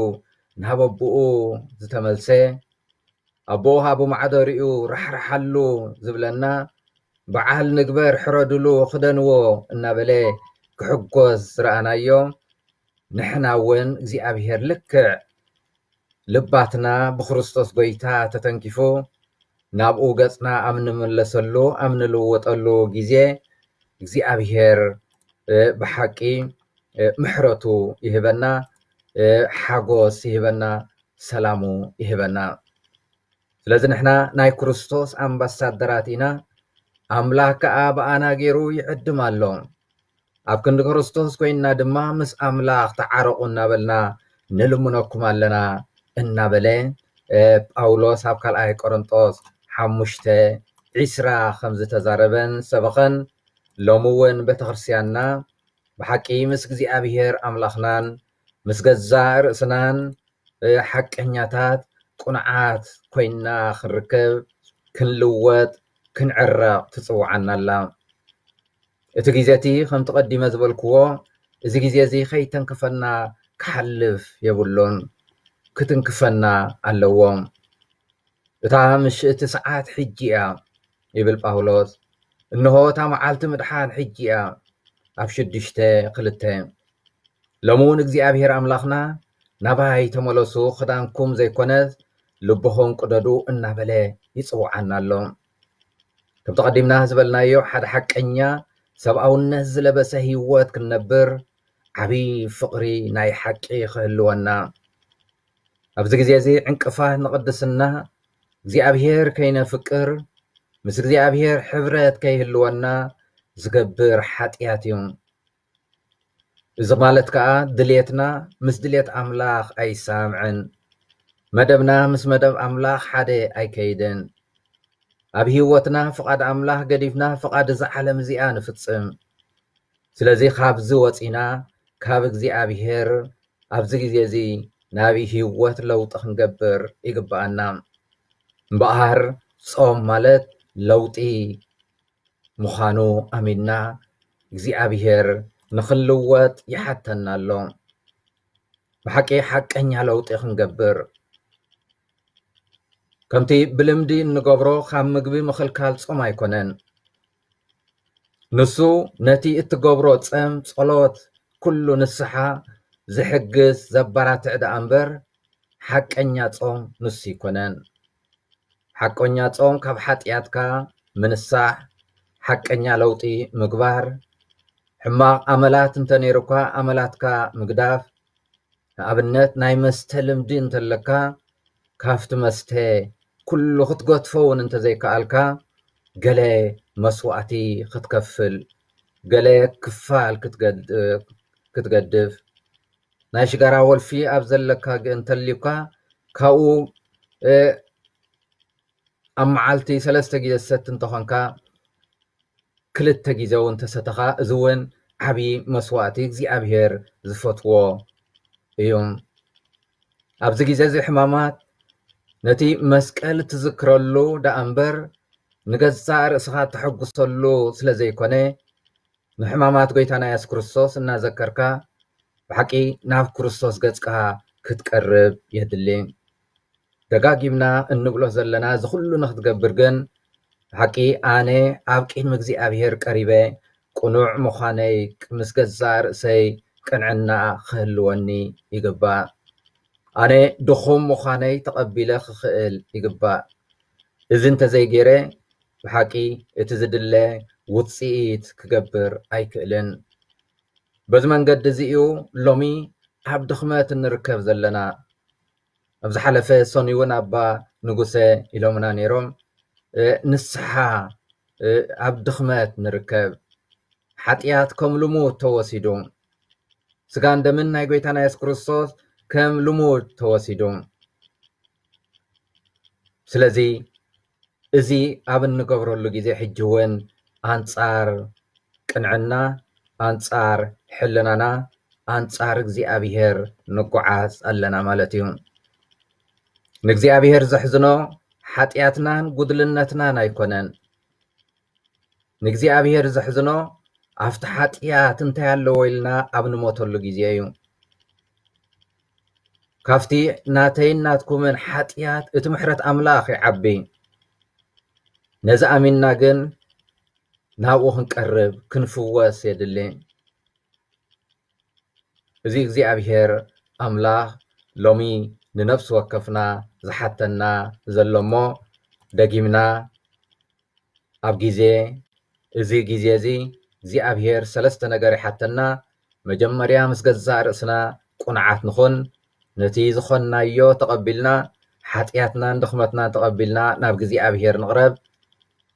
ናብ ኣቦኡ ዝተመልሰ፣ ኣቦኡ ሃቡ ማዕደሪኡ ራሕርሓሉ ዝብለና፣ በዓል ንግበር ሕረድሉ ክደንዎ እናበለ ክሕጎስ ዝረኣናዮ፣ ንሕና እውን እግዚኣብሔር ልክዕ ልባትና ብክርስቶስ ጎይታ ተተንኪፉ ናብኡ ገጽና ኣብ ንምለሰሉ ኣብ ንልወጠሉ ግዜ እግዚኣብሔር ብሓቂ ምሕረቱ ይህበና፣ ሓጎስ ይህበና፣ ሰላሙ ይህበና። ስለዚ ንሕና ናይ ክርስቶስ ኣምባሳደራት ኢና። ኣምላኽ ከኣ ብኣና ገይሩ ይዕድም ኣሎ። ኣብ ክንዲ ክርስቶስ ኮይንና ድማ ምስ ኣምላኽ ተዓረቑ እናበልና ንልምነኩም ኣለና እናበለ ጳውሎስ ኣብ ካልኣይ ቆሮንጦስ ሓሙሽተ ዒስራ ከም ዝተዛረበን ሰበኸን፣ ሎሚ እውን ቤተክርስትያንና ብሓቂ ምስ እግዚኣብሔር ኣምላኽናን ምስ ገዛእ ርእስናን ሓቀኛታት ቁኑዓት ኮይንና ክንርከብ፣ ክንልወጥ፣ ክንዕረቕ ትጽውዓና ኣላ። እቲ ግዜ እቲ ከምቲ ቀዲመ ዝበልክዎ፣ እዚ ግዜ እዚ ከይተንክፈና ክሓልፍ የብሉን፣ ክትንክፈና ኣለዎ። እታ ምሽእቲ ሰዓት ሕጂ እያ ይብል ጳውሎስ። እንሆ እታ መዓልቲ ምድሓን ሕጂ እያ። ኣብ ሽዱሽተ ክልተ። ሎሚ እውን እግዚኣብሔር ኣምላኽና ናባይ ተመለሱ፣ ክዳንኩም ዘይኮነስ ልብኹም ቅደዱ እናበለ ይጽውዓና ኣሎ። ከምቲ ቀዲምና ዝበልናዮ፣ ሓደ ሓቀኛ ሰብኣውነት ዝለበሰ ህይወት ክንነብር ዓብዪ ፍቕሪ ናይ ሓቂ ክህልወና፣ ኣብዚ ግዜ እዚ ዕንቅፋት ንቕድስና እግዚኣብሔር ከይነፍቅር ምስ እግዚኣብሔር ሕብረት ከይህልወና ዝገብር ሓጢኣት እዩ። እዚ ማለት ከኣ ድልየትና ምስ ድልየት ኣምላኽ ኣይሳምዕን፣ መደብና ምስ መደብ ኣምላኽ ሓደ ኣይከይድን። ኣብ ህይወትና ፍቓድ ኣምላኽ ገዲፍና ፍቓድ እዛ ዓለም እዚኣ ንፍጽም። ስለዚ ካብዚ ወጺና ካብ እግዚኣብሔር ኣብዚ ግዜ እዚ ናብ ህይወት ለውጢ ክንገብር ይግብኣና። እምበኣር ጾም ማለት ለውጢ ምዃኑ ኣሚንና እግዚኣብሔር ንኽንልወጥ ይሓተና ኣሎ። ብሓቂ ሓቀኛ ለውጢ ክንገብር ከምቲ ብልምዲ እንገብሮ ካብ ምግቢ ምኽልካል ጾም ኣይኮነን። ንሱ ነቲ እትገብሮ ጸም፣ ጸሎት፣ ኩሉ ንስሓ ዝሕግዝ፣ ዘበራትዕ ደኣ እምበር ሓቀኛ ጾም ንሱ ኣይኮነን። ሓቀኛ ጾም ካብ ሓጢኣትካ ምንሳሕ፣ ሓቀኛ ለውጢ ምግባር፣ ሕማቕ ኣመላት እንተ ነይሩካ ኣመላትካ ምግዳፍ፣ ንኣብነት ናይ መስተ ልምዲ እንተለካ ካብቲ መስተ ኩሉ ክትገድፎ እውን እንተዘይከኣልካ ገለ መስዋእቲ ክትከፍል፣ ገለ ክፋል ክትገድ-፣ ክትገድፍ፣ ናይ ሽጋራ ወልፊ ኣብ ዘለካ ግ-፣ እንተልዩካ ካብኡ፣ እ፣ ኣብ መዓልቲ ሰለስተ ግዜ ዝሰቲ እንተኾንካ ክልተ ግዜ እውን ተሰተኻ፣ እዚ እውን ዓብዪ መስዋእቲ እግዚኣብሔር ዝፈትዎ እዩ። ኣብዚ ግዜ እዚ ሕማማት ነቲ መስቀል ትዝክረሉ ደኣ እምበር ንገዛእ ርእስኻ ተሐጉሰሉ ስለ ዘይኮነ፣ ንሕማማት ጎይታና የሱስ ክርስቶስ እናዘከርካ ብሓቂ ናብ ክርስቶስ ገጽካ ክትቀርብ የድሊ። ደጋጊምና እንብሎ ዘለና እዚ ኩሉ ንክትገብር ግን ብሓቂ ኣነ ኣብ ቅድሚ እግዚኣብሔር ቀሪበ ቅኑዕ ምዃነይ ምስ ገዛእ ርእሰይ ቅንዕና ክህልወኒ ይግባእ። ኣነ ድኹም ምዃነይ ተቐቢለ ክኽእል ይግባእ። እዚ እንተዘይገይረ ብሓቂ እቲ ዝድለ ውፅኢት ክገብር ኣይክእልን። በዚ መንገዲ እዚ እዩ ሎሚ ኣብ ድኽመት እንርከብ ዘለና። ኣብ ዝሓለፈ ሰኑይ እውን ኣባ ንጉሰ ኢሎምና ነይሮም፣ እ፣ ንስሓ፣ እ፣ ኣብ ድኽመት ንርከብ። ሓጢኣት ከም ልሙድ ተወሲዱ፣ ስጋን ደምን ናይ ጎይታና የሱስ ክርስቶስ ከም ልሙድ ተወሲዱ። ስለዚ እዚ ኣብ እንገብረሉ ግዜ ሕጂ እውን ኣንጻር ቅንዕና፣ ኣንጻር ሕልናና፣ ኣንጻር እግዚኣብሔር ንጓዓዝ ኣለና ማለት እዩ። ንእግዚኣብሔር ዘሕዝኖ ሓጢኣትናን ጉድልነትናን ኣይኮነን። ንእግዚኣብሔር ዘሕዝኖ ኣብቲ ሓጢኣት እንታይ ኣለዎ ኢልና ኣብ ንሞተሉ ግዜ እዩ። ካብቲ ናተይን ናትኩምን ሓጢኣት እቲ ምሕረት ኣምላኽ ይዓቢ። ነዚ ኣሚንና ግን ናብኡ ክንቀርብ፣ ክንፍወስ የድሊ። እዚ እግዚኣብሔር ኣምላኽ ሎሚ ንነፍሲ ወከፍና ዝሓተና ዘሎ እሞ፣ ደጊምና ኣብ ግዜ፣ እዚ ግዜ እዚ እግዚኣብሔር ሰለስተ ነገር ይሓተና። መጀመርያ ምስ ገዛእ ርእስና ቁንዓት ንኹን። ነቲ ዝኾንናዮ ተቐቢልና፣ ሓጢኣትናን ድኽመትናን ተቐቢልና ናብ እግዚኣብሔር ንቕረብ።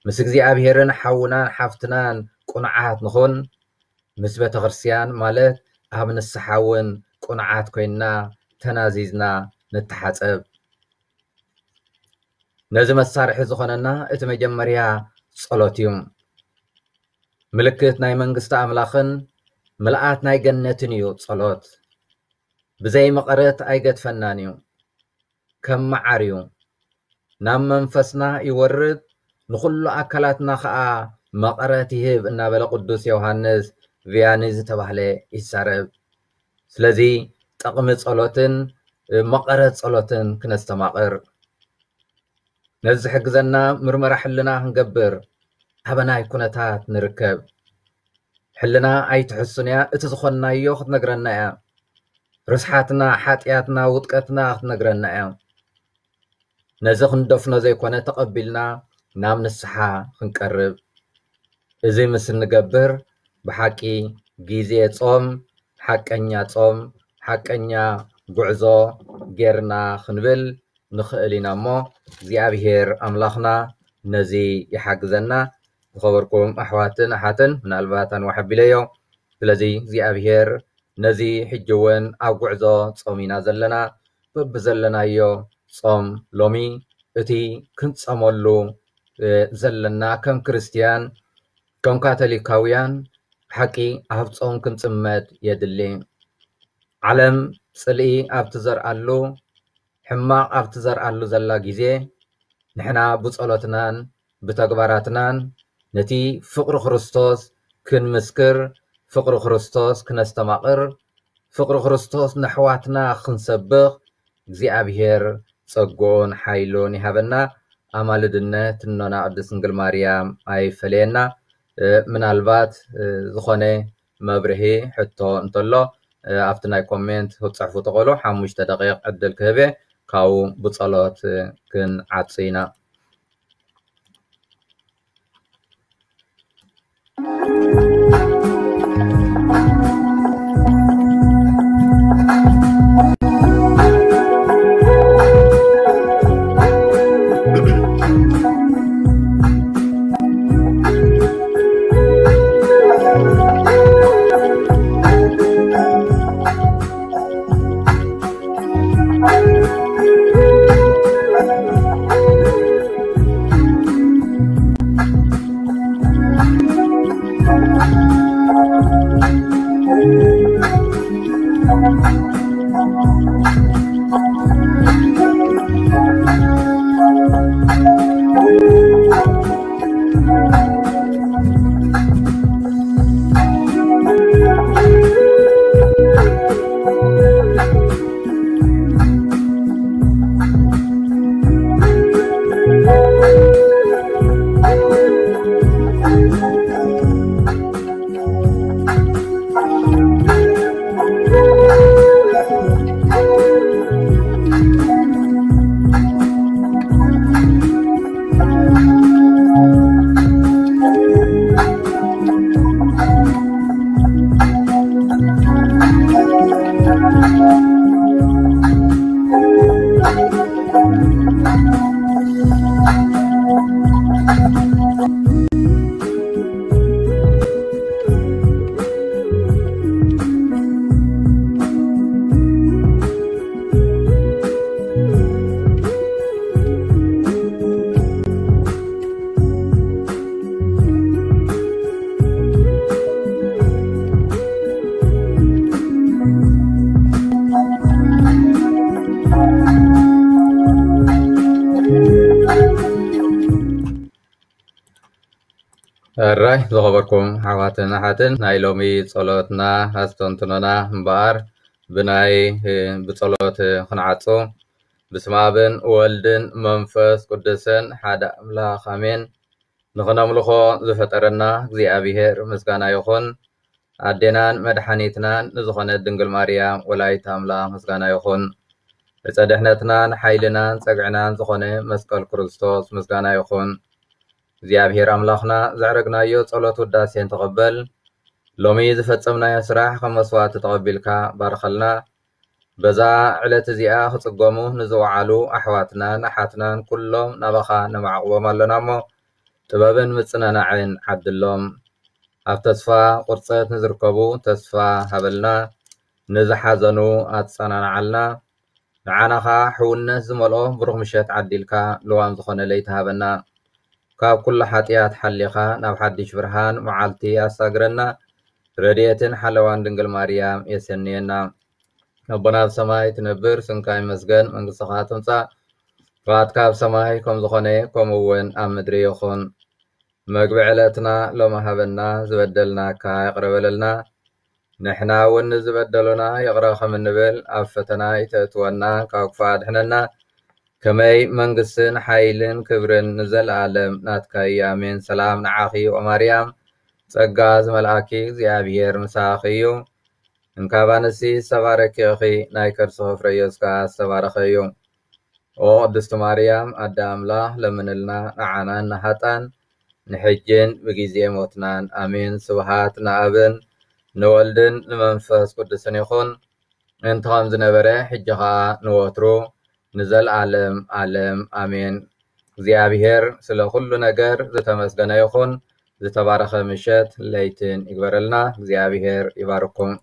ምስ እግዚኣብሔርን ሓውናን ሓፍትናን ቁንዓት ንኹን። ምስ ቤተ ክርስቲያን ማለት ኣብ ንስሓ እውን ቁንዓት ኮይንና ተናዚዝና ንተሓጸብ። ነዚ መሳርሒ ዝኾነና እቲ መጀመርያ ጸሎት እዩ። ምልክት ናይ መንግስቲ ኣምላኽን ምልኣት ናይ ገነትን እዩ ጸሎት። ብዘይ መቐረት ኣይገድፈናን እዩ። ከም መዓር እዩ። ናብ መንፈስና ይወርድ፣ ንኹሉ ኣካላትና ኸኣ መቐረት ይህብ እናበለ ቅዱስ ዮሃንስ ቪያኒ ዝተባህለ ይዛረብ። ስለዚ ጠቕሚ ጸሎትን መቐረት ጸሎትን ክነስተማቕር። ነዚ ዝሕግዘና ምርመራ ሕልና ክንገብር ኣበናይ ኩነታት ንርከብ? ሕልና ኣይትሕሱን እያ፣ እቲ ዝኾንናዮ ክትነግረና እያ። ርስሓትና፣ ሓጢኣትና፣ ውድቀትና ክትነግረና እያ። ነዚ ክንደፍኖ ዘይኮነ ተቐቢልና ናብ ንስሓ ክንቀርብ። እዚ ምስ እንገብር ብሓቂ ግዜ ጾም፣ ሓቀኛ ጾም፣ ሓቀኛ ጉዕዞ ጌርና ክንብል ንኽእል ኢና እሞ እግዚኣብሔር ኣምላኽና ነዚ ይሓግዘና። ዝኸበርኩም ኣሕዋትን ኣሓትን፣ ምናልባት ኣንዋሕ ኣቢለዮ። ስለዚ እግዚኣብሔር ነዚ ሕጂ እውን ኣብ ጉዕዞ ጾም ኢና ዘለና። በብዘለናዮ ጾም ሎሚ እቲ ክንጸመሉ፣ እ፣ ዘለና ከም ክርስትያን፣ ከም ካቶሊካውያን ሓቂ ኣብ ጾም ክንጽመድ የድሊ። ዓለም ጽልኢ ኣብ ትዘርኣሉ፣ ሕማቕ ኣብ ትዘርኣሉ ዘላ ግዜ፣ ንሕና ብጸሎትናን ብተግባራትናን ነቲ ፍቕሪ ክርስቶስ ክንምስክር፣ ፍቕሪ ክርስቶስ ክነስተማቕር፣ ፍቕሪ ክርስቶስ ነሕዋትና ክንሰብኽ እግዚኣብሔር ጸግኡን ሓይሉን ይሃበና። ኣማልድነት እኖና ቅድስት ድንግል ማርያም ኣይፈለየና። እ፣ ምናልባት፣ እ፣ ዝኾነ መብርሂ ሕቶ እንተሎ፣ እ፣ ኣብቲ ናይ ኮሜንት ክትጽሕፉ ትኽእሉ። ሓሙሽተ ደቂቕ ዕድል ክህብ እየ፣ ካብኡ ብጸሎት፣ እ፣ ክንዓጹ ኢና። ሕራይ ዝኸበርኩም ኣሕዋትን ኣሓትን፣ ናይ ሎሚ ጸሎትና ኣስተንትኖና እምበኣር ብናይ፣ እ፣ ብጸሎት ክንዓጹ። በስመ ኣብን ወልድን መንፈስ ቅዱስን ሓደ ኣምላኽ ኣሜን። ንኽነምልኾ ዝፈጠረና እግዚኣብሔር ምስጋና ይኹን። ኣዴናን መድሓኒትናን ንዝኾነት ድንግል ማርያም ወላዲተ ኣምላኽ ምስጋና ይኹን። ዕፀ ድሕነትናን ሓይልናን ጸግዕናን ዝኾነ መስቀል ክርስቶስ ምስጋና ይኹን። እግዚኣብሔር ኣምላኽና ዘዕረግናዮ ጸሎት ውዳሴን ተቐበል። ሎሚ ዝፈጸምናዮ ስራሕ ከም መስዋዕቲ ተቐቢልካ ባርኸልና። በዛ ዕለት እዚኣ ክጽገሙ ንዝወዓሉ ኣሕዋትናን ኣሓትናን ኩሎም ናባኻ ነማዕቕቦም ኣለና እሞ፣ ጥበብን ምጽንናዕን ዓድሎም። ኣብ ተስፋ ቁርጸት ንዝርከቡ ተስፋ ሃበልና፣ ንዝሓዘኑ ኣጸናንዓልና። ንዓና ኸኣ ሕውነት ዝመልኦ ብሩኽ ምሸት ዓዲልካ፣ ልዋም ዝኾነ ለይቲ ሃበና። ካብ ኩሉ ሓጢኣት ሓሊኻ ናብ ሓድሽ ብርሃን መዓልቲ ኣሳግረና። ረድኤትን ሓለዋን ድንግል ማርያም የሰንየና። ኣቦና ኣብ ሰማይ ትነብር፣ ስምካ ይመስገን፣ መንግስትኻ ትምጻእ፣ ፍቓድካ ኣብ ሰማይ ከም ዝኾነ ከምኡ እውን ኣብ ምድሪ ይኹን። መግቢ ዕለትና ሎሚ ሃበና፣ ዝበደልናካ ይቕረ በለልና፣ ንሕና እውን ንዝበደሉና ይቕረ ከም እንብል፣ ኣብ ፈተና ይተእትወና፣ ካብ ክፉእ ኣድሕነና። ከመይ መንግስትን ሓይልን ክብርን ንዘለኣለም ናትካ እዩ፣ ኣሜን። ሰላም ንዓኺ ኦ ማርያም፣ ጸጋ ዝመልኣኪ እግዚኣብሔር ምሳኺ እዩ። እንካብ ኣንስቲ ዝተባረኪ ኢኺ፣ ናይ ከርስኺ ፍረ ኢየሱስ ከኣ ዝተባረኸ እዩ። ኦ ቅድስቲ ማርያም ኣደ ኣምላኽ፣ ለምንልና ንዓናን ንሃጣን፣ ንሕጅን ብጊዜ ሞትናን። ኣሜን። ስብሃት ንኣብን ንወልድን ንመንፈስ ቅዱስን ይኹን፣ እንተ ከም ዝነበረ፣ ሕጂ ኸኣ ንወትሩ ንዘለኣለም ኣለም ኣሜን። እግዚኣብሔር ስለ ኩሉ ነገር ዝተመስገነ ይኹን። ዝተባረኸ ምሸት ለይትን ይግበረልና። እግዚኣብሔር ይባርኩም።